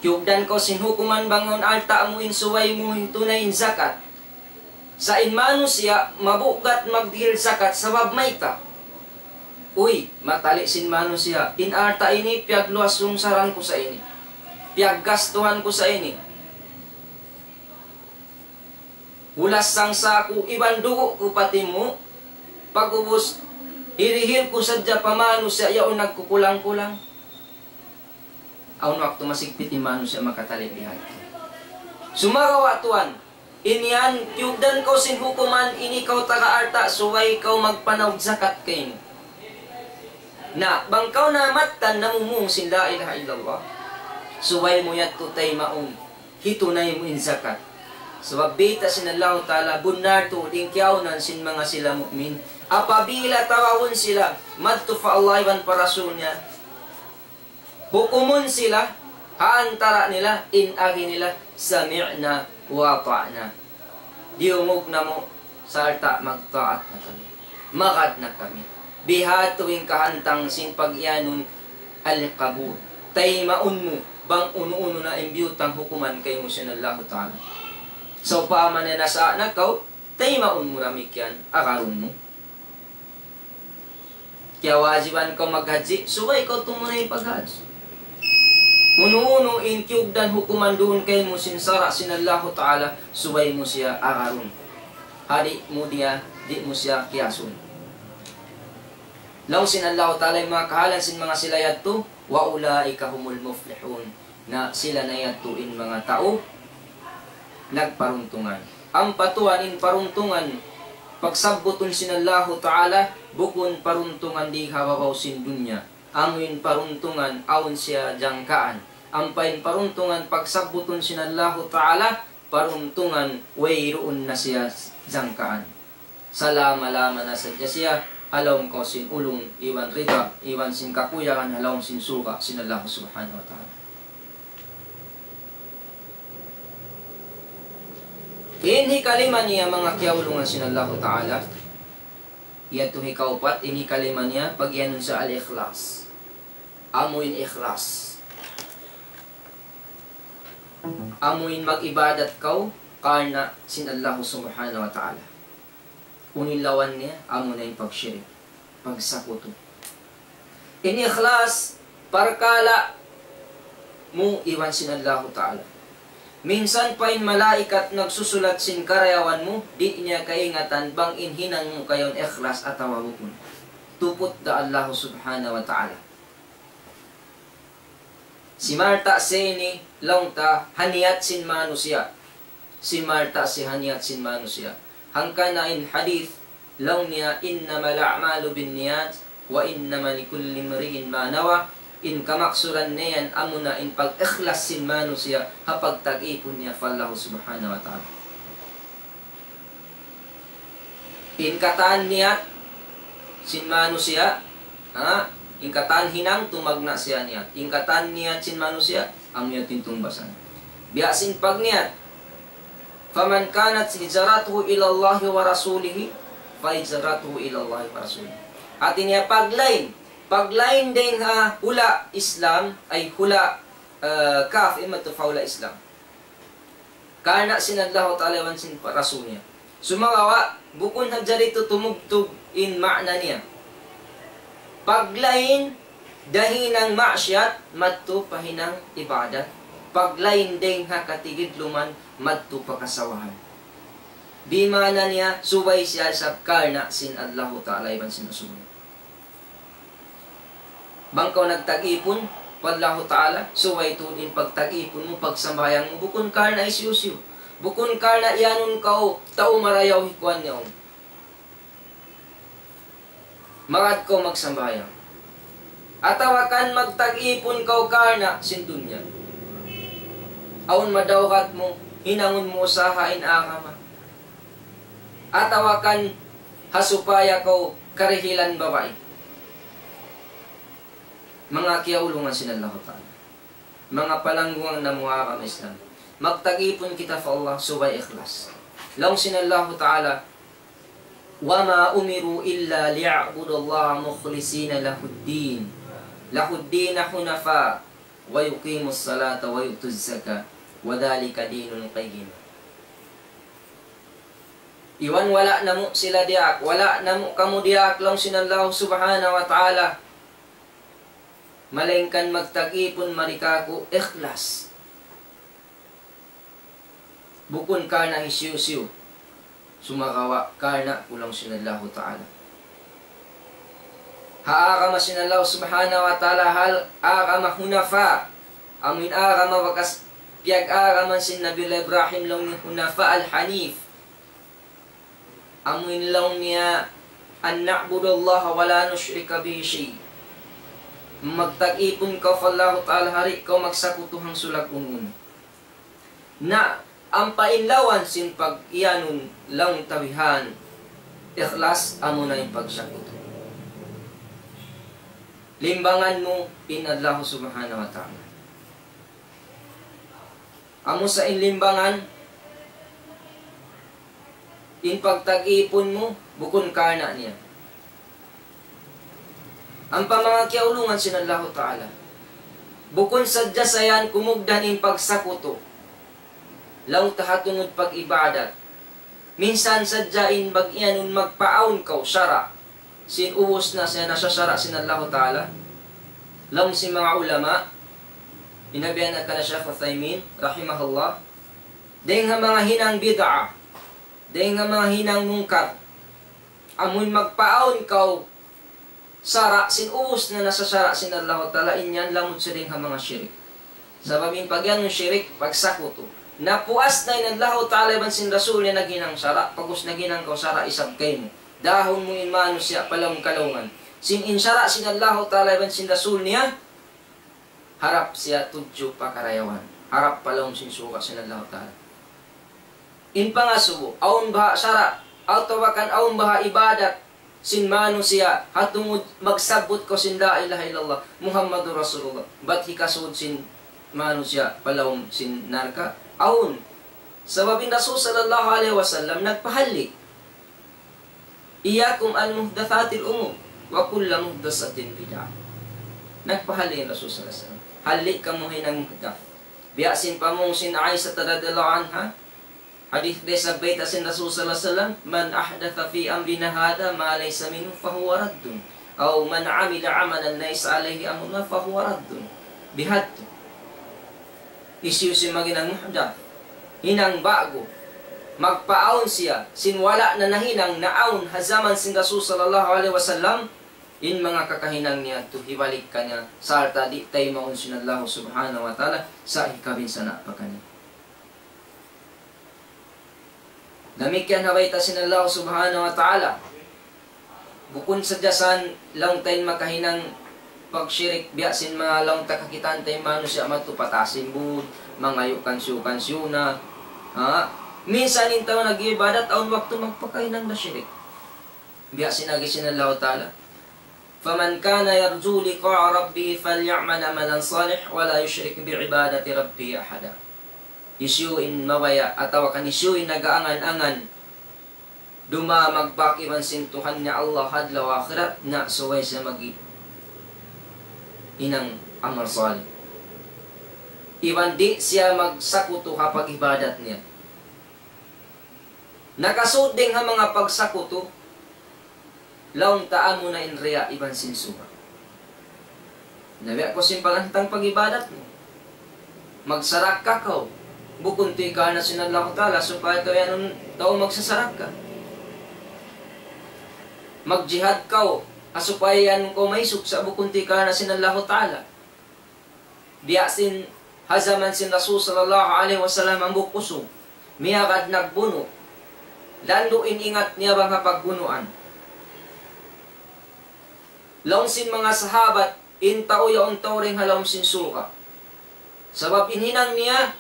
kiyugdan kaw sin hukuman bang awn alta' mu in subay mu hitunay in zakat. Sa' in manusiya' mabugat magdihil zakat sabab mayta'? Uy, matali' sin manusiya', in alta' ini piyagluwas-lungsaran ku sa ini, piyaggastuhan ku sa ini. Hulas sangsa' ku, iban dugu' ku pa timu', pag'ubus hirihil ku sadja pa manusiya' yaun nagkukulang-kulang. Awn waktu masigpit in manusiya' makatali' bihadtu. Sumagawa' tuwan, in yan, kiyugdan kaw sin hukuman, in ikaw taga alta', subay kaw magpanaug zakat kaymu. Na, bang kaw na mattan namung sin la ilaha illallah, subay mu yadtu taymaun, hitunay mu in zakat. Sabab bayta' sin Allahu Ta'ala, bunnal tuud in kiyaunan sin manga sila mu'min. Apabila tawahun sila, madtu pa Allah iban pa Rasul niya, hukumun sila, ha antara' nila, in agi nila, سمعنا وأطعنا. Diyungug namu', sarta' magtaat na kami. Magad na kami. Bihadtu in kahantang sin pag-iyanun al-qabul. Taymaun mu, bang unu-unu na in biyutang hukuman kaymu sin Allahu Ta'ala. Sawpama na nasa na kaw, taymaun mu damikkiyan, agarun mu. Kiyawajiban kaw maghajji, subay kaw tumunay paghajji. Unu-unu in kiyugdan hukuman duun kaymu sin sara' sin Allahu Ta'ala, subay mu siya agarun. Ha di' mu diya, di' mu siya kiyasun. Laung sin Allahu Ta'ala in manga kahalan sin manga sila yadtu, وأولئك هم المفلحون. Na sila na yadtu in manga tau nagparuntungan. Ampa tuwan in paruntungan, pagsabbutun sin Allahu Ta'ala, bukun paruntungan di ha babaw sin dunya. Amu in paruntungan awn siya jangkaan. Ampa in paruntungan pagsabbutun sin Allahu Ta'ala, paruntungan wayruun na siya jangkaan. Salama-lama na sadja siya, ha lawm kaw sin ulung, iban rida, iban sin kakuyagan, ha lawm sin surga' sin Allah Subhanahu wa Ta'ala. In hikalima niya, manga kiyaulungan sin Allahu Ta'ala, yadtu hikaupat, in hikalima niya, pag-iyanun sa al-ikhlas. Amu in ikhlas. Amu in mag-ibadat kaw karna' sin Allah Subhanahu wa Ta'ala. Unu in lawan niya, amu na in pagshirik, pagsakutu. In ikhlas, parkala' mu iban sin Allahu Ta'ala. Minsan pa in malaikat nagsusulat sin karayawan mu, di' niya kaingatan bang in hinang mu kayaun ikhlas atawa bukun. Tuput da Allah Subhanahu wa Ta'ala. Simarta' siya ini, laung ta, ha niyat sin manusiya'. Simarta' siya ha niyat sin manusiya'. Hangkan na in hadith, laung niya, إنما الأعمال بالنيات وإنما لكل امرئ ما نوى. In kamaksuran niya yan, amuna in pag-ikhlas sin manusiya', ha pagtag-ipun niya pa Allah Subhanahu wa Ta'ala. In katan niyat sin manusiya', ha? In katan hinang tumagna' siya niyat. In katan niyat sin manusiya', amu yadtu in tungbasan. Biya' sin pagniyat, فمن كانت هجرته إلى الله ورسوله فهجرته إلى الله ورسوله. Hati niya paglain, paglain dayn ha hula' Islam, ay hula', eh, kafir, madtu pa hula' Islam. Karna' sin Allahu Ta'ala iban sin pa-, Rasul niya. Sumagawa', bukun hadja ditu tumugtug in ma'na niya. Paglain, dayn ha hinang maksiyat, madtu pa hinang ibadat. Paglain dayn ha katigidluman, madtu pa kasawahan. Di' maana niya, subay siya isab karna' sin Allahu Ta'ala iban sin Rasul niya. Bang kaw nagtag-ipun pa Allahu Ta'ala, subay tuud in pagtag-ipun mu, pagsambahayang mu, bukun karna' hisiyu-siyu. Bukun karna' iyanun kaw tau marayaw hikuan niya. Magad kaw magsambahayang. Atawa kan magtag-ipun kaw karna' sin dunya. Awn madawhat mu, hinangun mu usaha in agama. Atawa kan ha supaya kaw karihilan babai. Manga kiyaulungan sin Allahu Ta'ala. Manga palanggungan namu' ha agama Islam. Magtag-ipun kita pa Allah subay ikhlas. Laung sin Allahu Ta'ala, وما أمروا إلا ليعبدوا الله مخلصين له الدين، له الدين حنفاء ويقيموا الصلاة ويؤتوا الزكاة وذلك دين القيمة. Iban wala' namu' sila diyaak, wala' namu' kamu diyaak laung sin Allah subhanahu wa ta'ala. Malaingkan magtag-ipun mari kāku' ikhlas. Bukun karna' hisiyu-siyu. Sumagawa' karna' ku laung sin Allahu Ta'ala. Ha agama sin Allah subhanahu wa ta'ala, hal agama hunafa. Amuin agama bakas piyag-agaman sin Nabiullah Ibrahim laung niya hunafa al-hanif. Amuin laung niya أن نعبد الله ولا نشرك به شيئا. Magtag-ipun kaw pa Allahu Ta'ala, di' kaw magsakutu hangsulag unu-unu. Na, ampa in lawan sin pag-iyanun laung tabihan, ikhlas amuna in pagsakutu. Limbangan mu in Allah subhanahu wa ta'ala. Amu sa in limbangan, in pagtag-ipun mu, bukun karna' niya. Ampa manga kiyaulungan sin Allahu Ta'ala. Bukun sadja sa yan kumugdan in pagsakutu. Laung ta ha tungud pag-ibadat. Minsan sadja in bag-iyanun magpaawn kaw sara'. Sin ubus na siya nasasara' sin Allahu Ta'ala. Laung sin manga ulama, inabihan na kana Shaykh Uthaymin, rahimahullah. Dayng ha manga hinang bid'ah. Dayng ha manga hinang mungkar. Amun magpaawn kaw sara' sin ubus na nasasara' sin Allahu Ta'ala, in yan lamud siya dayng ha manga shirik. Sabab in pag-iyanun shirik, pagsakutu. Napuas na in Allahu Ta'ala iban sin Rasul niya naghinang sara', pag'ubus naghinang kaw sara' isab kaymu. Dahun mu in manusiya' pa lawm kalaungan. Sin in sara' sin Allahu Ta'ala iban sin Rasul niya, harap siya tudju pa karayawan. Harap pa lawm sin surga' sin Allahu Ta'ala. In pangasubu, awn baha' sara', atawa kan awn baha' ibadat sin manusiya', ha tungud magsabbut kaw sin la ilaha illallah, Muhammadur Rasulullah. Bat hikasud sin manusiya' pa lawm sin narka'? Awn. Sabab in Rasul sallallahu alayhi wasallam nagpahalli'. إياكم ومحدثات الأمور وكل محدثة بدعة. Nagpahalli' in Rasul sallallahu alayhi wasallam. Halli' kamu hinang muhdath. Biya' sin pamung sin Aisha radiyallahu anha. Hadith da isab bayta' sin Rasul sallallahu alayhi wasallam, من أحدث في أمرنا هذا ما ليس منه فهو رد. أو من عمل عملا ليس عليه أمرنا فهو رد. Bihadtu. Hisiyu-siyu in maghinang muhdath, hinang ba'gu, magpaawn siya sin wala' na nahinang naawn ha jaman sin Rasul sallallahu alayhi wasallam, in manga kakahinang niya yadtu hibalik kaniya, sarta' di' taymaun sin Allah subhanahu wa ta'ala, sa' hikabinsana' pa kaniya. Damikkiyan ha bayta' sin Allah subhanahu wa ta'ala. Bukun sadja sa yan laung ta in makahinang pagshirik, biya' sin manga laung ta kakitaan ta in manusiya' madtu pa taas sin bud, mangayu' kansiyu-kansiyu na. Ha? Minsan in tau nag-iibadat, awn waktu magpakahinang da shirik. Biya' sin agi sin Allah ta'ala, فمن كان يرجو لقاء ربه فليعمل عملا صالحا ولا يشرك بعبادة ربه أحدا. Hisiyu in mabaya' atawa kan hisiyu in nag-aangan-angan dumaug magbak iban sin Tuhan niya Allah ha adlaw akhirat, na subay siya maghinang amal salih. Iban di' siya magsakutu ha pag-ibadat niya. Nakasud dayn ha manga pagsakutu, laung ta amuna in riya' iban sin sum'at. Na biya' ku sin paghantang pag-ibadat mu. Magsarakka kaw. Bukun tuud karna' sin Allahu Ta'ala, supaya kaw yan in tau magsasarakka. Magjihad kaw, ha supaya yan kaw maisug sa' bukun tuud karna' sin Allahu Ta'ala. Biya' sin ha jaman sin Rasul sallallahu alayhi wasallam hambuuk usug. Miyagad nagbunu'. Landu' in ingat niya bang ha pagbunuan. Laung sin manga sahabat, in tau yaun tau dayn ha lawm sin surga'. Sabab in hinang niya,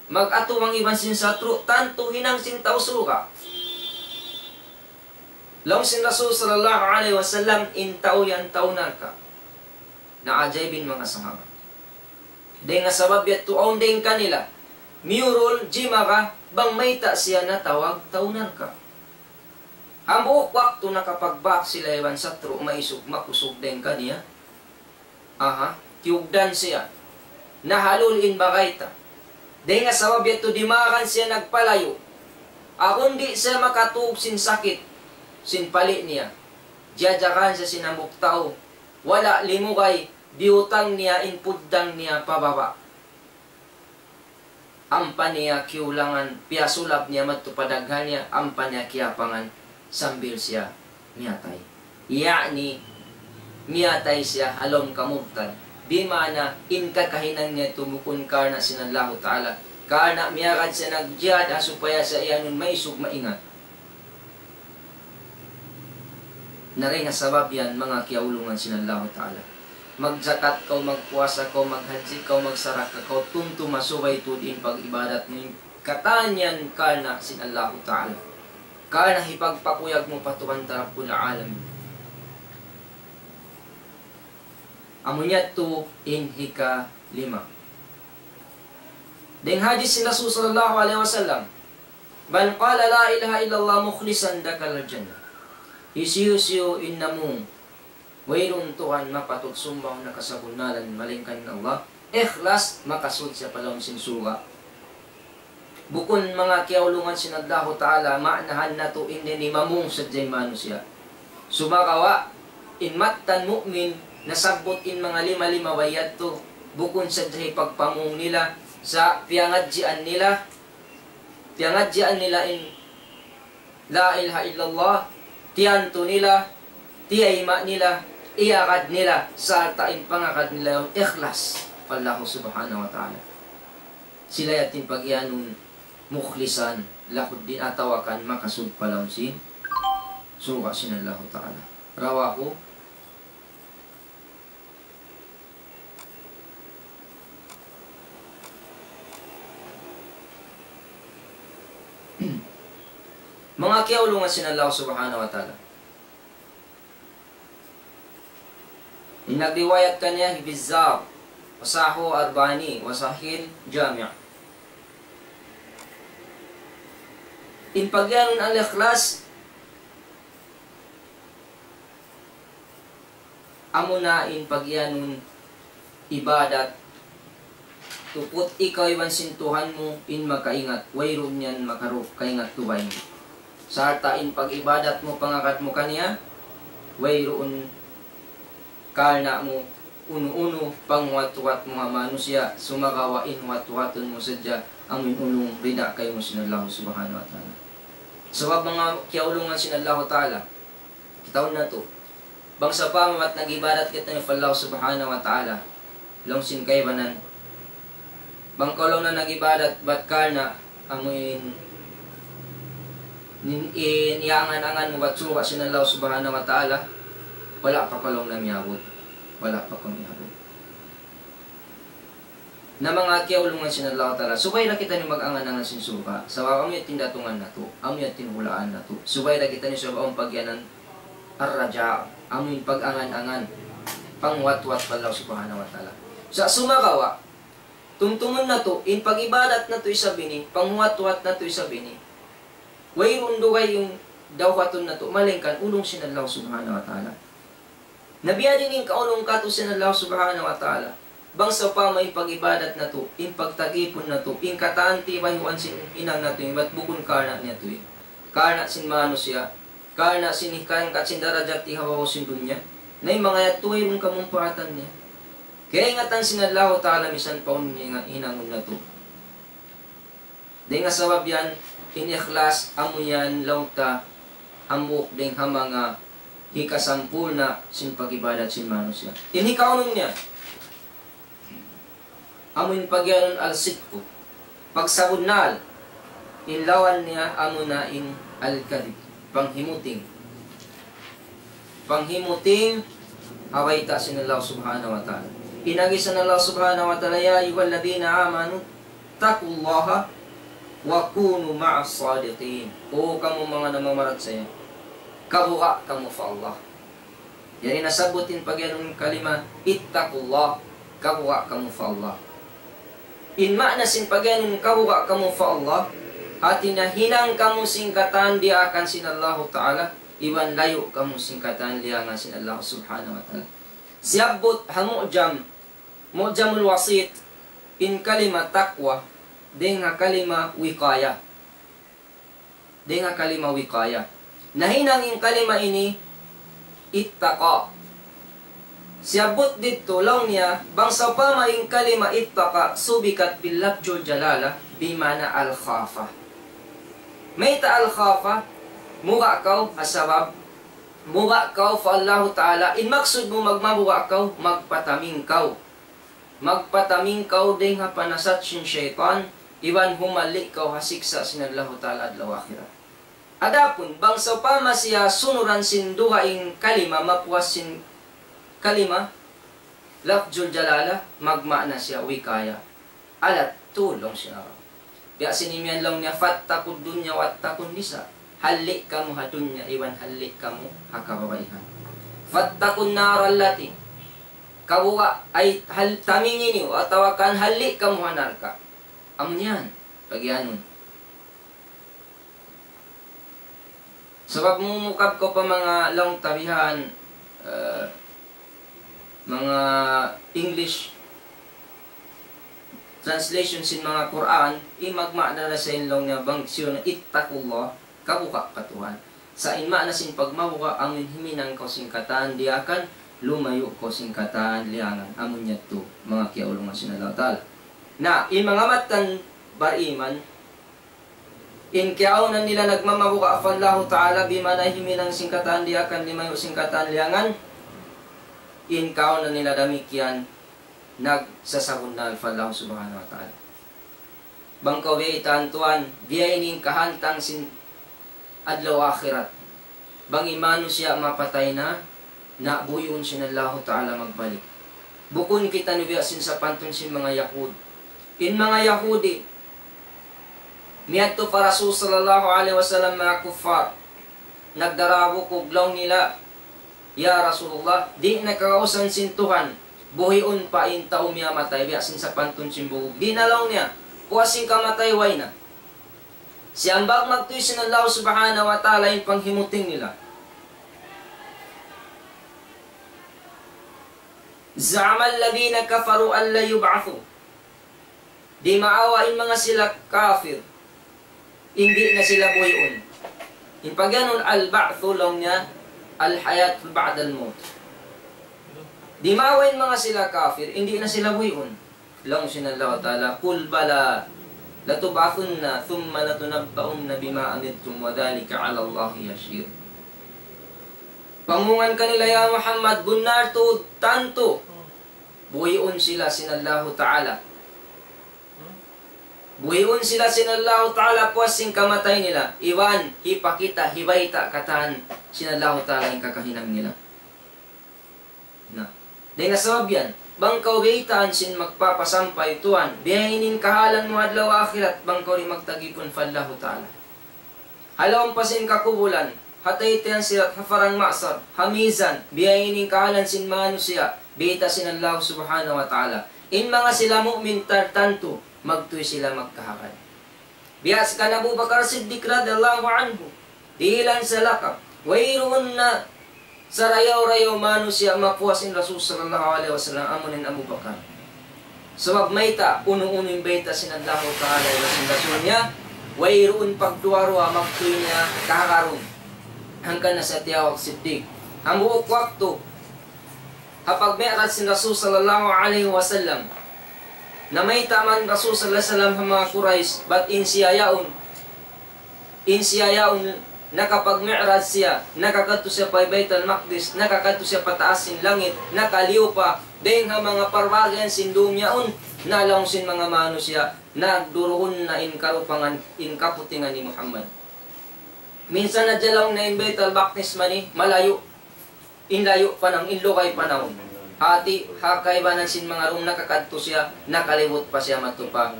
mag-atuwang iban sin satru', tantu hinang sin tau surga'. Laung sin Rasul sallallahu alayhi wasallam, in tau yan tau narka'. Naajaib in manga sahaba. Dayn ha sabab yadtu awn dayn kanila miyurul jimaga bang mayta' siya natawag tau narka'. Hambuuk waktu nakapagbak sila iban satru' maisug makusug dayn kaniya. Aha, kiyugdan siya. Nahalul in bagay ta. Dayn ha sabab yadtu dimagan siya nagpalayu'. Agun di' siya makatug sin sakit sin pali' niya. Jiyajagahan siya sin hambuuk tau. Wala' limugay, biyutang niya in puddang niya pababa'. Ampa niya kiyulangan, piyasulab niya madtu pa daghan niya, ampa niya kiyapangan sambil siya miyatay. Ya'ni, miyatay siya ha lawm kamurtad. Di' maana in kakahinang niya tumukun karna' sin Allahu Ta'ala. Karna' miyagad siya nagjihad ha supaya siya iyanun maisug maingat. Na dayn ha sabab yan, manga kiyaulungan sin Allahu Ta'ala. Magjakat kaw, magpuasa kaw, maghajji kaw, magsarakka kaw, tumtuma subay tuud in pag-ibadat mu in katan yan karna' sin Allahu Ta'ala. Karna' hipagpakuyag mu pa Tuhan ta Rabbul Alamin. Amu niya tu in hikalima. Dayn hadis sin Rasul sallallahu alayhi wasallam, من قال لا إله إلا الله مخلصا دخل الجنة. Hisiyu-siyu in namung wayruun Tuhan mapatut sumbahan ha kasabunnalan malaingkan in Allah, ikhlas, makasud siya pa lawm sin surga'. Bukun manga kiyaulungan sin Allahu Ta'ala, maanahan natu' in ini mamung sadja in manusiya'. Sumagawa', in mattan mu'min, nasabbut in manga lima-lima way yadtu, bukun sadja hipagpamung nila, sa' piyangadjian nila, piyangadjian nila in لا إله إلا الله, tiyantu nila, tiyayma' nila, iyagad nila, sarta' in pangagad nila yan ikhlas pa Allah Subhanahu wa Ta'ala. Sila yan in pag-iyanun mukhlisan lahu ddin atawa kan makasud pa lawm sin surga' sin Allahu Ta'ala. رواه Manga kiyaulungan sin Allah Subhanahu wa Ta'ala. In nagriwayat kaniya hi Bazzar, وصححه الألباني وصحح الجامع. In pag-iyanun al-ikhlas, amuna in pag-iyanun ibadat, tuput ikaw iban sin Tuhan mu in makaingat, wayruun yan makaruh kaingat dugaing. Sarta' in pag-ibadat mu, pangagad mu kaniya, wayruun karna' mu unu-unu panghuwat-huwat mu ha manusiya', sumagawa' in huwat-huwatun mu sadja amu in ulung rida kaymu sin Allah Subhanahu wa Ta'ala. Sabab manga kiyaulungan sin Allah Ta'ala, kitaun natu'. Bang sawpama bat nag-ibadat kitaniyu pa Allah Subhanahu wa Ta'ala, laung sin kaibanan, bang kaw laung na nag-ibadat bat karna' amu in, in, in iyangan-angan mu bat surga' sin Allah Subhanahu wa Ta'ala, wala' pa kaw laung na miyabut. Wala' pa kaw miyabut. Na manga kiyaulungan sin Allah Ta'ala, subay da kitaniyu mag-angan-angan sin surga', sabab amu yan in datungan natu', amu yan in hulaan natu'. Subay da kitaniyu sabab amu in pag-iyanan ar-raja', amu in pag-angan-angan, panghuwat-huwat pa Allah Subhanahu wa Ta'ala. Sa' sumagawa', tumtumun natu', in pag-ibadat natu' isab ini, panghuwat-huwat natu' isab ini, wayruun dugaing dawhatun natu', malaingkan ulung sin Allah Subhanahu wa Ta'ala. Na biya' diin in kaulung katu' sin Allah Subhanahu wa Ta'ala. Bang sawpama in pag-ibadat natu', in pagtag-ipun natu', in katan tibayhuan sin hinang natu', in bat bukun karna' niya tuud. Karna' sin manusiya', karna' sin hikangkat sin darajat ha babaw sin dunya. Na in manga yadtu wayruun kamumpaatan niya. Kaingatan sin Allah Ta'ala misan pa unu in hinangun natu'. Dayn ha sabab yan, in ikhlas, amu yan laung ta, hambuuk dayn ha manga hikasampurna' sin pag-ibadat sin manusiya'. In hikaunum niya, amu in pag-iyanun al-sidku, pagsabunnal, in lawan niya, amuna in al-kadhib, panghimuting. Panghimuting ha bayta' sin Allah Subhanahu wa Ta'ala. In agi sin Allah Subhanahu wa Ta'ala, يا أيها الذين آمنوا اتقوا الله وكونوا مع الصادقين. O kamu manga namamarachaya, Kabuga' kamu pa Allah. Yari nasabbut in pagiyanun kalima, اتقوا الله, kabuga' kamu pa Allah. In maana sin pagiyanun kabuga' kamu pa Allah, hati niya hinang kamu sin katan diyaakan sin Allahu Ta'ala, iban layu' kamu sin katan liyangan sin Allah Subhanahu wa Ta'ala. Siyabbut ha Mu'jam, Mu'jamul Wasit, in kalima taqwa, dayn ha kalima wiqaya. Dayn ha kalima wiqaya. Nahinang in kalima ini ittaqa. Siyabbut didtu laung niya, bang sawpama in kalima ittaqa subikat bil lafzul jalala bima'na al khafa. Mayta' al khafa, muga' kaw, ha sabab muga' kaw pa Allahu Ta'ala, in maksud mu magmabuga' kaw, magpataming kaw. Magpataming kaw dayn ha panasat sin saytan, iban humalli' kaw ha siksa' sin Allahu Ta'ala adlaw akhirat. Adapun, bang sawpama siya sunuran sin dugaing kalima, mapuas sin kalima, lafzul jalala, magmaana siya wikaya. Alat, tulung sin Arab. Biya' sin imiyan laung niya, فاتقوا الدنيا واتقوا النساء. Halli' kamu ha dunya, iban halli' kamu ha kababaihan. فاتقوا النار التي. Kabuga', ay, hal-, tamingi niyu, atawa kan halli' kamu ha narka'. Amu yan, pagiyanun. Sabab mumukab kaw pa manga laung ta bihan, eh, manga English translation sin manga Qur'an, in magmaana na sa in laung niya bang siya na اتقوا الله, kabuga' pa Tuhan. Sa' in maana sin pagmabuga', amu in himinang kaw sin katan diyaakan, lumayu' kaw sin katan liyangan. Amu yadtu, manga kiyaulungan sin Allah Ta'ala. Na, in manga mattan bariman, in kiyaawnan nila nagmamabuga' pa Allahu Ta'ala, bima'na himinang sin katan diyaakan, lumayu' sin katan liyangan, in kaawnan nila damikkiyan, nagsasabunnal pa Allah Subhanahu wa Ta'ala. Bang kaw biyaytaan tuwan, biya' ini in kahantang sin adlaw akhirat. Bang in manusiya' mapatay na, na buyuun sin Allahu Ta'ala magbalik. Bukun kitaniyu biya' sin sapantun sin manga Yahud. In manga Yahudi, miyadtu pa Rasul sallallahu alayhi wasallam manga kuffar, nagdarabukug laung nila, "Ya Rasulullah, di' na kagausan sin Tuhan, buhiun pa in tau miyatay, biya' sin sapantun sin bugug." Di' na laung niya, puas sin kamatay, way na. Siyambag magtuy sin Allah Subhanahu wa Ta'ala in panghimuting nila. زعم الذين كفروا أن لن يبعثوا. Dimaawa in manga sila kafir, in di' na sila buhiun. In pagiyanun al-ba'thu laung niya, al-hayat ba'dal maut. Dimaawa in manga sila kafir, in di' na sila buhiun. Laung sin Allah Ta'ala, قل بلى لتبعثن ثم لتنبؤن بما عملتم وذلك على الله يسير. Pamung kanila, ya Muhammad, bunnal tuud tantu buhiun sila sin Allahu Ta'ala. Buhiun sila sin Allahu Ta'ala puas sin kamatay nila. Iban hipakita', hibayta' katan sin Allahu Ta'ala in kakahinang nila. Na, dayn ha sabab yan, bang kaw biyaytaan sin magpapasampay tuwan, biya' ini in kahalan mu adlaw akhirat, bang kaw di' magtagipun pa Allahu Ta'ala. Ha lawm pa sin kakubulan, ha taytayan sirat, ha parang mahsar, ha mizan, biya' ini in kahalan sin manusiya', biyayta' sin Allah Subhanahu wa Ta'ala. In manga sila mu'min tartantu, magtuy sila magkahagad. Biya' sin kan Abu Bakar Siddiq radiyallahu anhu, dihilan siya lakap. Wayruun na sarayaw-rayaw manusiya' mapuas in Rasul sallallahu alayhi wasallam, amu in Abu Bakar. Sabab mayta', unu-unu in bayta' sin Allahu Ta'ala iban sin Rasul niya, wayruun pagduwa-ruwa, magtuy niya kahagarun. Hangkan na siya tiyawag Siddiq. Hambuuk waktu, ha pag-mi'raj sin Rasul sallallahu alayhi wasallam, namayta' man Rasul sallallahu alayhi wasallam ha manga Quraysh, bat in siya yaun, in siya yaun, nakapag-mi'raj siya, nakakadtu siya pa Baytal Maqdis, nakakadtu siya pa taas sin langit, nakaliyu pa, dayn ha manga parbahagian sin dum yaun, na laung sin manga manusiya', nagduruhun na in karupangan, in kaputingan ni Muhammad. Minsan na jalaw na in Baytal Maqdis mani, malayu'. In layu' pa naun, in lugay pa naun. Hati, ha kaibanan sin manga dum nakakadtu siya, nakalibut pa siya madtu pa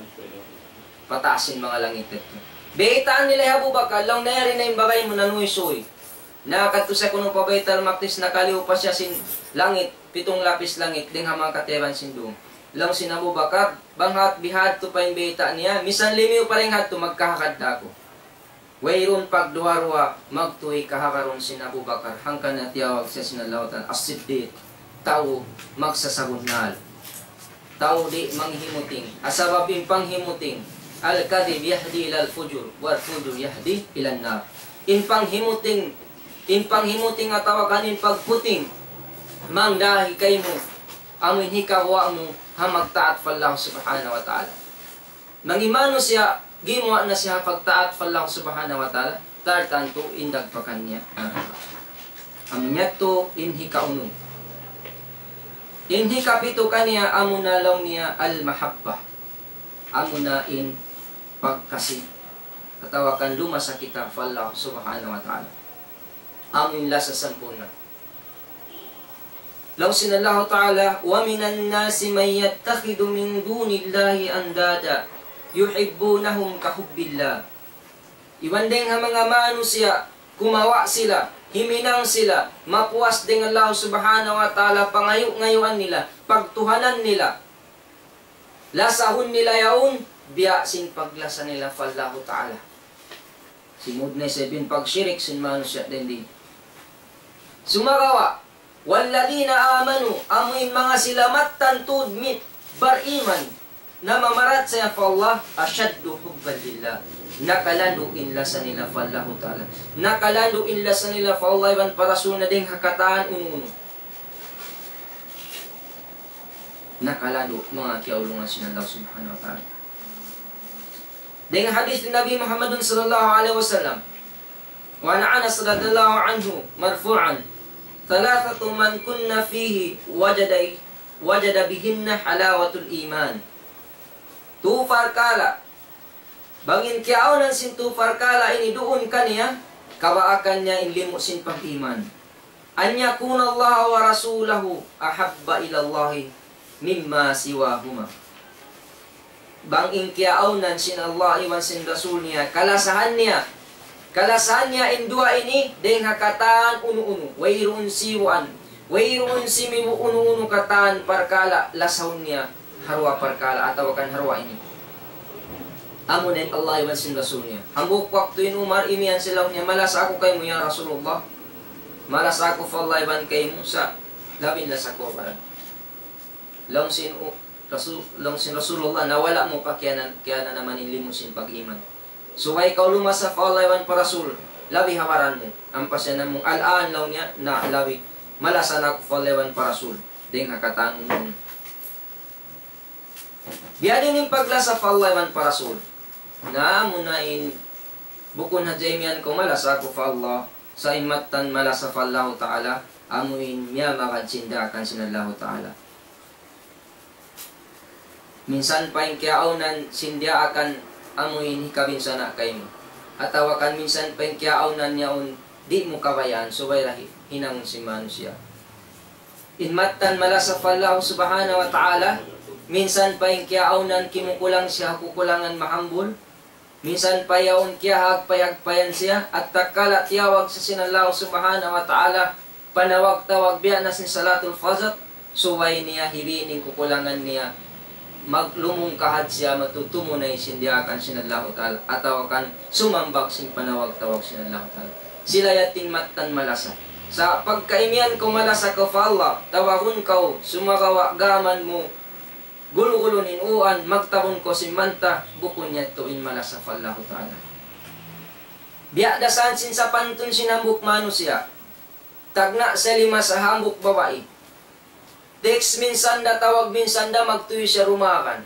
pataas sin manga langit yadtu. Baytaan nila hi Abu Bakar, laung niya yari na in bagay mu nanuysuy. Nakadtu siya kunu' pa Baytal Maqdis, nakaliyu pa siya sin langit, pitung lapis langit, dayn ha manga katiyaban sin dum. Laung sin Abu Bakar, bang hat bihadtu pa in bayta' niya, misan limiyu pa dayn hadtu magkahagad da aku. Wayruun pagduwa-ruwa, magtuy kahagarun sin Abu Bakar, hangkan na tiyawag siya sin Allahu Ta'ala, As-Siddiq, tau magsasabunnal. Tau di' manghimuting. Sabab in panghimuting, الكذب يهدي إلى الفجور والفجور يهدي إلى النار. In panghimuting, in panghimuting atawa kan in pagputing, mangdahi kaymu, amu in hikaguwa' mu ha magtaat pa Allah Subhanahu wa Ta'ala. Bang in manusiya', gimuwa' na siya pagtaat pa Allah Subhanahu wa Ta'ala, tartantu in dagpakan niya. Amu niya tu in hikaunum. In hikapitu kaniya, amu na laung niya al-mahabbah. Amu na in pagkasi. Atawa kan lumasa kita pa Allah Subhanahu wa Ta'ala. Amu in lasa sampurna'. Laung sin Allahu Ta'ala, ومن الناس من يتخذ من دون الله أندادا يحبونهم كحب الله. Iban dayn ha manga manusiya', kumawa' sila, himinang sila, mapuas dayn Allah Subhanahu wa Ta'ala, pangayu'-ngayuan nila, pagtuhanan nila. Lasahun nila yaun, biya' sin paglasa nila pa Allahu Ta'ala. Simud na isab in pagshirik sin manusiya' dayn di. Sumagawa', والذين آمنوا, amu in manga sila mattan tuud mi-, bariman, namamarachaya pa Allah, أشد حبا لله. Nakalandu' in lasa nila pa Allahu Ta'ala. Nakalandu' in lasa nila pa Allah iban pa Rasul niya dayn ha katan unu-unu. Nakalandu', manga kiyaulungan sin Allah Subhanahu wa Ta'ala. Dayn ha hadith Nabi Muhammad sallallahu alayhi wasallam, وعن أنس رضي الله عنه مرفوعا: ثلاثة من كن فيه وجد، وجد بهن حلاوة الإيمان. Tu parkala', bang in kiyaawnan sin tu parkala' ini duun kaniya, kabaakan niya in limu' sin pag-iman. أن يكون الله ورسوله أحب إلى الله مما سواهما. Bang in kiyaawnan sin Allah iban sin Rasul niya, kalasahan niya. Kalasahan niya in duwa ini, dayn ha katan unu-unu. Wayruun siwaan. Wayruun simibu' unu-unu katan parkala' lasahun niya ha duwa parkala' atawa kan ha duwa ini. Amu na in Allah iban sin Rasul niya. Hambuuk waktu in Umar imiyan sila niya, "Malasa aku kaymu, ya Rasulullah. Malasa aku pa Allah iban kaymu, sa' labi in lasa ku ha baran." Laung sin U-, Rasul, laung sin Rasulullah, "Na wala' mu pa kiyanan-, kiyananaman in limu' sin pag-iman. Subay kaw lumasa pa Allah iban pa Rasul, labi ha baran mu." Ampa siya namung, "Al-an," laung niya, "na labi. Malasa na aku pa Allah iban pa Rasul dayn ha katan unu-unu." Biya' diin in paglasa pa Allah iban pa Rasul. Na amu na in bukun hadja imiyan kaw malasa aku pa Allah, sa' in mattan malasa pa Allahu Ta'ala, amu in miyamagad sin daakan sin Allahu Ta'ala. Minsan pa in kiyaawnan sin daakan amu in hikabinsana' kaymu. Atawa kan minsan pa in kiyaawnan yaun di' mu kabayaan, subay da hi-, hinangun sin manusiya'. In mattan malasa pa Allah Subhanahu wa Ta'ala, minsan pa in kiyaawnan kimukulang siya ha kukulangan mahambul, minsan pa yaun kiyahagpay-hagpayan siya, at tatkala tiyawag siya sin Allah Subhanahu wa Ta'ala, panawag-tawag biya' na sin salatul fajr, subay niya hibin in kukulangan niya, maglumungkahad siya, matutumunay sin diyaakan sin Allahu Ta'ala, atawa kan sumambag sin panawag-tawag sin Allahu Ta'ala. Sila yadtu in mattan malasa. Sa' pagka imiyan kaw malasa kaw pa Allah, tawagun kaw, sumagawa' gām mu, gulu-gulu in uwan, magtabun kaw sin manta, bukun yadtu in malasa pa Allahu Ta'ala. Biya' da isab sin sapantun sin hambuuk manusiya'. Tagna' siya limasa ha hambuuk babai. Text minsan da, tawag minsan da, magtuy siya dumagan.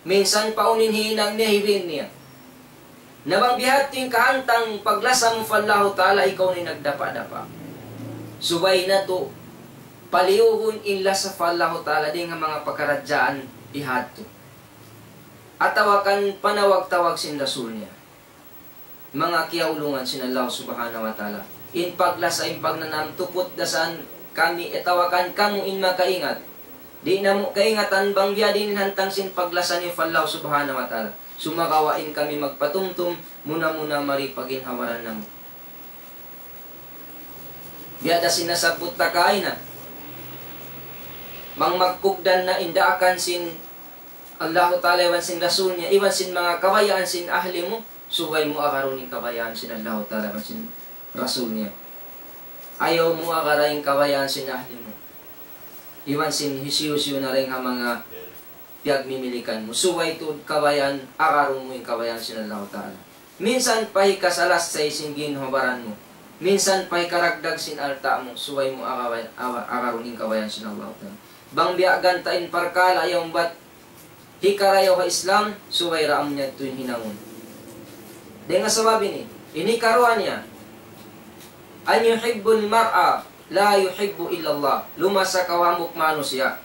Minsan pa unu in hinang niya, hibin niya. Na bang bihadtu in kahantang paglasa mu pa Allahu Ta'ala, ikaw na in nagdapa'-dapa'. Subay natu', paliyuhun in lasa pa Allahu Ta'ala dayn ha manga pakaradjaan bihadtu. Atawa kan panawag-tawag sin Rasul niya. Manga kiyaulungan sin Allah Subhanahu wa Ta'ala. In paglasa, in pagnanam, tuput da isab kami, atawa kan kamu in makaingat. Di' namu' kaingatan bang biya' diin in hantang sin paglasa niyu pa Allah Subhanahu wa Ta'ala. Sumagawa' in kami magpatumtum, muna-muna mari pa ginhawa-baran namu'. Biya' da sin nasabbut ta kaina. Bang magkugdan na in daakan sin Allahu Ta'ala iban sin Rasul niya, iban sin manga kabayaan sin ahli mu, subay mu agarun in kabayaan sin Allahu Ta'ala iban sin Rasul niya. Ayaw mu agara in kabayaan sin ahli mu. Iban sin hisiyu-siyu na dayn ha manga piyagmimilikan mu. Subay tuud kabayaan, agarun mu in kabayaan sin Allahu Ta'ala. Minsan pa hikasalassay sin ginhawa-baran mu. Minsan pa hikaragdag sin alta' mu, subay mu agaway-, awa-, agarun in kabayaan sin Allahu Ta'ala. Bang biya' ganta' in parkala' yaun bat hikarayaw ha Islam, subay da amu niya tuud hinangun. Dayn ha sabab ini, ini karuwa niya, أن يحب المرء لا يحبه إلا الله. Lumasa kaw hambuuk manusiya'.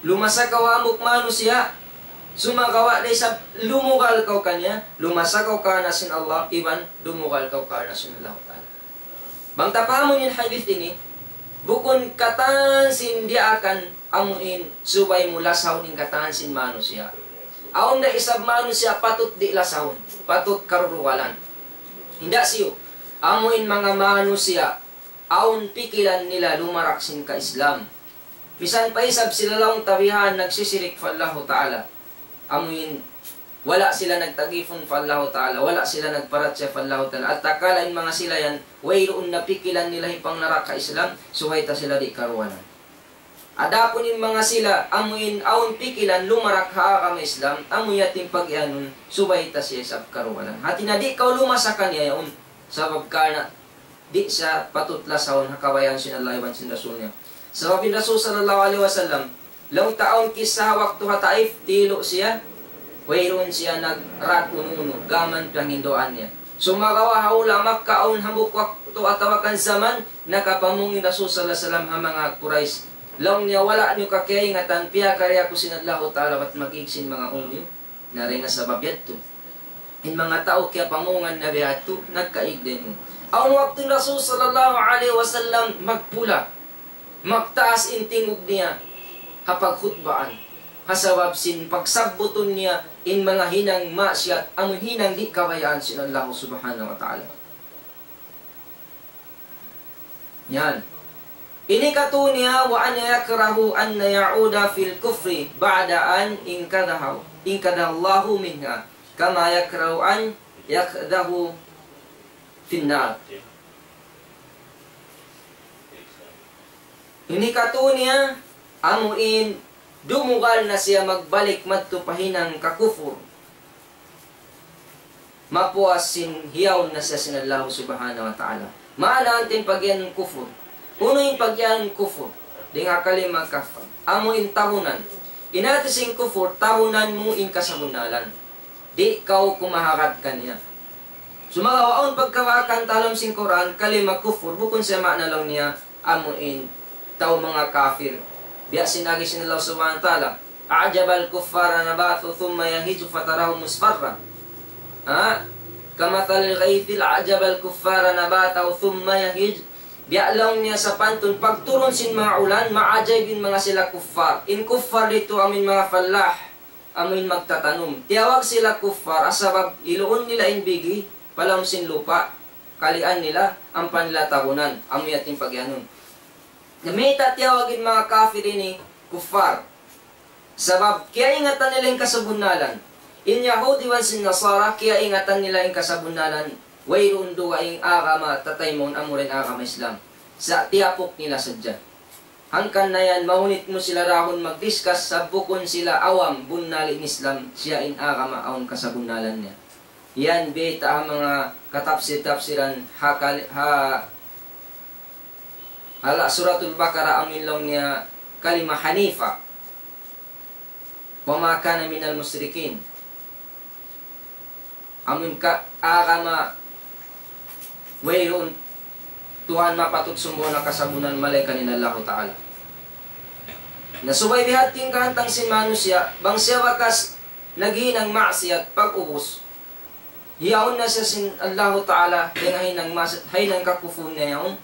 Lumasa kaw hambuuk manusiya', sumagawa' da isab lumugal kaw kaniya, lumasa kaw karna' sin Allah, iban lumugal kaw karna' sin Allahu Ta'ala. Bang ta pahamun in hadith ini, bukun katan sin diyaakan amu in subay mu lasahun in katan sin manusiya'. Awn da isab manusiya' patut di' lasahun, patut karurugalan. Hinda siyu, amu in manga manusiya', awn pikilan nila lumarak sin ka-Islam. Misan pa isab sila laung ta bihan nagsisirik pa Allahu Ta'ala. Amu in wala' sila nagtagipun pa Allahu Ta'ala, wala' sila nagparachaya pa Allahu Ta'ala. At takala in manga sila yan, wayruun na pikilan nila hipangnaraka Islam, subay ta sila di' karugalan. Adapun in manga sila, amu in awn pikilan lumarak ha agama Islam, amu yadtu in pagiyanun, subay ta siya isab karugalan. Hati na di' kaw lumasa kaniya yaun, sabab karna' di' siya patut lasahun ha kabayaan sin Allah iban sin Rasul niya. Sabab in Rasul sallallahu alayhi wasallam, laung ta awn kissa ha waktu ha Taif, tilu' siya, wayruun siya nagrad unu-unu, gam piyanghinduan niya. Sumagawa' ha hula' Makkah awn hambuuk waktu atawa kan jaman, nakapamung in Rasul sallallahu alayhi wasallam ha manga Quraysh. Laung niya, wala' niyu kakiyaingatan, piyakari aku sin Allahu Ta'ala, bat mag-ig sin manga unu niyu. Na dayn ha sabab yadtu, in manga tau kiyapamungan na biya' yadtu, nagkaig da in unu. Awn waktu in Rasul sallallahu alayhi wasallam magpula, magtaas in tingug niya ha pagkhutbaan. Ha sabab sin pagsabbutun niya in manga hinang maksiyat, amu hinang di' kabayaan sin Allah subhanahu wa ta'ala. Yan. Ini katu' niya, وأن يكره أن يعود في الكفر بعد أن أنقذه، أنقذه الله منه، كما يكره أن يقذف في النار. Ini katu' niya, amu in dumugal na siya magbalik madtu pa hinang kakufur. Mapuas sin hiyaun na siya sin Allah subhanahu wa ta'ala. Maana hātin pagiyanun kufur. Unu in pagiyanun kufur? Dayn ha kalima kafar. Amu in tahunan. In hāti sin kufur, tahunan mu in kasabunnalan. Di' kaw kumahagad kaniya. Sumagawa' awn pagkabaakan ha lawm sin Qur'an, kalima kufur, bukun siya maana laung niya, amu in tau manga kafir. Biya' sin agi sin Allah subhanahu wa ta'ala, أعجب الكفار نباته ثم يهيج فتراه مصفرا. Ha? كمثل الغيث أعجب الكفار نباته ثم يهيج. Biya' laung niya sapantun pagturun sin manga ulan, maajaib in manga sila kuffar. In kuffar didtu amu in manga fallah. Amu in magtatanum. Tiyawag sila kuffar, ha sabab iluun nila in bigi, pa lawm sin lupa', kalian nila, ampa nila tahunan, amu yadtu in pagiyanun. Na mayta' tiyawag in manga kafir ini, kuffar. Sabab, kiyaingatan nila in kasabunnalan. In Yahudi iban sin Nasara, kiyaingatan nila in kasabunnalan. Wayruun dugaing agama, tataymaun amu ra in agama Islam. Sa' tiyapuk nila sadja. Hangkan na yan, mahunit mu sila dahun mag-discuss, sa' bukun sila awam, bunnal in Islam, siya in agama awn kasabunnalan niya. Yan, bayta' ha manga katapsir-tapsiran, ha kal-, ha, ha la-, Suratul Baqarah, amu in laung niya kalima hanifa. وما كان من المشركين. Amu in ka-, agama wayruun Tuhan mapatut sumbaun ha kasabunnalan malaingkan in Allahu Ta'ala. Na subay bihadtu in kahantang sin manusiya', bang siya bakas naghinang maksiyat pag-ubus, hiyaun na siya sin Allahu Ta'ala, dayn ha hinang maksiyat, ha hinang kakufur niya yaun.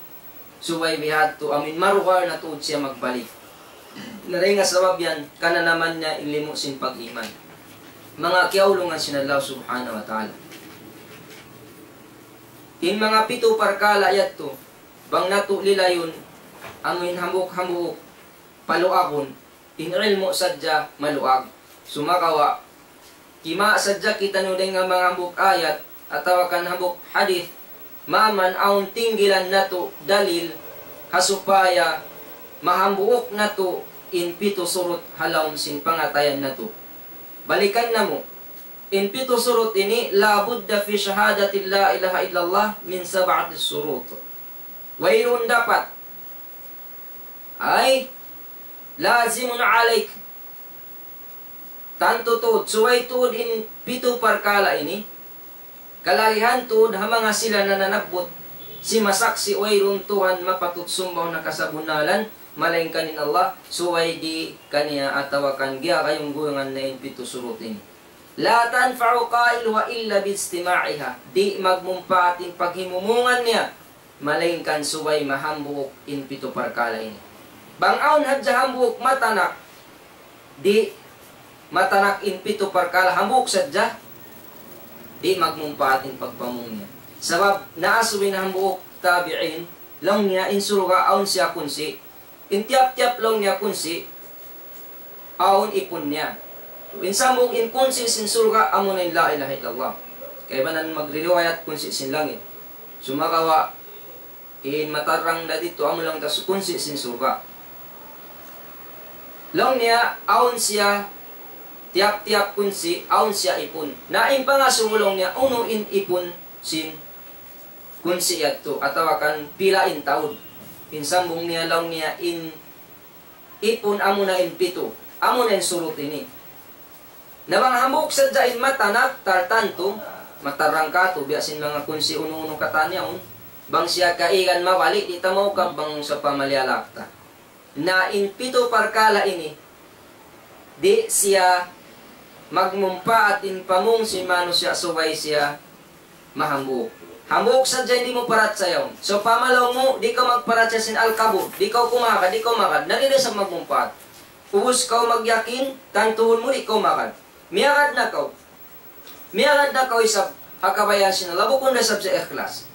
Subay bihadtu, amu in marugal na tuud siya magbalik. Na dayn ha sabab yan, kananaman niya in limu' sin pag-iman. Manga kiyaulungan sin Allah Subhanahu wa Ta'ala. In manga pitu parkala' yadtu, Bang natu' lilayun, amuin hambuuk-hambuuk paluagun, in ilmu' sadja maluag. Sumagawa', kima' sadja kitaniyu dayn ha manga hambuuk ayat, atawa kan hambuuk hadith, maman awn tinggilan natu' dalil, ha supaya mahambuuk natu' in pitu surut ha lawm sin pangatayan natu'. Balikan namu', in pitu surut ini, لا بد في شهادة لا إله إلا الله من سبعة شروط. Wayruun dapat. Ay, لازم عليك. Tantu tuud, subay tuud in pitu parkala' ini. Kalagihan tuud ha manga sila nananabbut, simasaksi' wayruun Tuhan mapatut sumbaun ha kasabunnalan, malaingkan in Allah, subay di kaniya atawa kan giyagayung-guyungan na in pitu surut ini. لا تنفع قائلها إلا باجتماعها. Di' magmumpaat in paghimumungan niya, malaingkan subay mahambuuk in pitu parkala' ini. Bang awn hadja hambuuk matanak, di' matanak in pitu parkala', hambuuk sadja, di' magmumpaat in pagpamung niya. Sabab naasubu in hambuuk tabi'in, laung niya in surga' awn siya kunsi', in tiyap-tiyap laung niya kunsi', awn ipun niya. In sambung in kunsi' sin surga', amuna in la ilaha illallah. Kaibanan magririwayat kunsi' sin langit. Sumagawa', in matarrang da ditu, amu laung ta kunsi' sin surga'. Laung niya, awn siya, tiyap-tiyap kunsi', awn siya ipun. Na in pangasubu laung niya, unu in ipun sin kunsi' yadtu, atawa kan pila in taud. In sambung niya laung niya in ipun amuna in pitu. Amuna in surut ini. Na bang hambuuk sadja in matanak, tartantu, matarrang katu', biya' sin manga kunsi' unu-unu katan yaun. Bang siya kaigan mabali', di' ta maukab bang sa pamaliyalak ta. Na in pitu parkala' ini, di' siya magmumpaat in pamung sin manusiya' subay siya mahambuuk. Hambuuk sadja in di' mu parachaya yaun. Sawpama laung mu, di' kaw magparachaya sin al-qabur, di' kaw kumagad, di' kaw magad, na di' da isab magmumpaat. Ubus kaw magyakin, tantuhun mu di' kaw magad. Miyagad na kaw. Miyagad na kaw isab ha kabayaan sin Allah, bukun da isab sa ikhlas.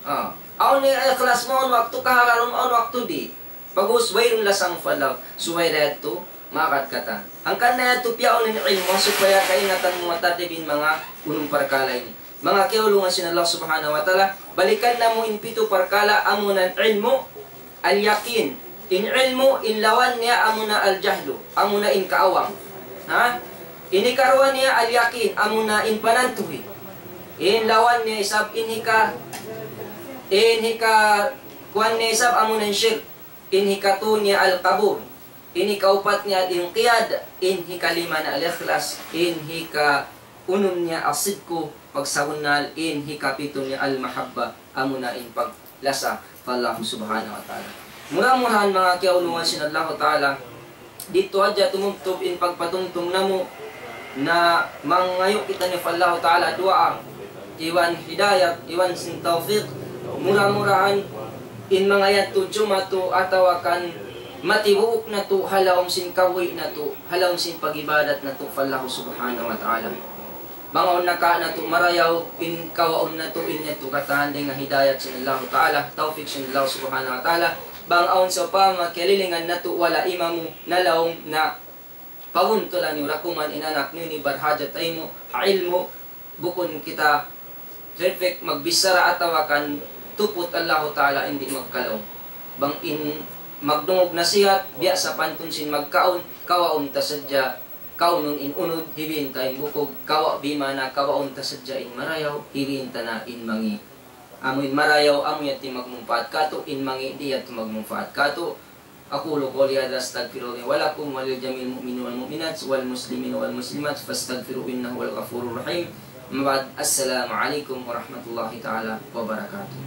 Ah. Awn ikhlas mu, awn waktu kahagarun, awn waktu di'. Bagus, wayruun lasang falaw. Subay da yadtu, magad katan. Hangkan na yadtu piyaun in ilmu', supaya kaingatan mu matadib in manga unum parkala' ini. Manga kiyaulungan sin Allah Subhanahu wa Ta'ala, balikan namu' in pitu parkala', amuna in ilmu', al-yaqin. In ilmu', in lawan niya amuna al-jahlu, amuna in kaawam. Ha? In hikaruwa niya al-yaqin, amuna in panantuhi. In lawan niya isab, in hika, in hika, kuwan niya isab, amuna in shirk. In hikatu niya al-qabul. In hikaupat niya al-inqiyad. In hikalima niya al-ikhlas. In hikaunum niya as-sidku, pagsabunnal. In hikapitu niya al-mahabba, amuna in paglasa pa Allah Subhanahu wa Ta'ala. Mura-murahan manga kiyaulungan sin Allah Ta'ala, didtu hadja tumubtub in pagpatumtum namu', na mangayu' kitaniyu pa Allah Ta'ala duwaa, iban hidayat, iban sin tawfiq, mura-murahan in manga yadtu jumatu atawa kan matibuuk natu' ha lawm sin kabuhi' natu', ha lawm sin pag-ibadat natu' pa Allah Subhanahu wa Ta'ala. Bang awn naka natu' marayaw, in kawaun natu' in yadtu katan dayn ha hidayat sin Allah Ta'ala, tawfiq sin Allah Subhanahu wa Ta'ala. Bang awn sawpama kiyalilingan natu' wala' imamu, nalaung na pabuntulan niyu da kuman in anak niyu ini barhajat taymu ha ilmu', bukun kita perfect magbichara atawa kan tuput Allah Ta'ala in di' magkalaung. Bang in magdungug nasihat, biya' sapantun sin magkaun, kawaun ta sadja, kaunun in unud, hibin ta in bukug, kawa' bimana, kawaun ta sadja in marayaw, hibin ta na in mangi'. Amu in marayaw, amu yadtu in magmumpaat katu', in mangi' di' yadtu magmumpaat katu'. أقول قولي هذا أستغفر الله لي ولكم ولجميع المؤمنين والمؤمنات والمسلمين والمسلمات فاستغفروه إنه هو الغفور الرحيم. أما بعد، السلام عليكم ورحمة الله تعالى وبركاته.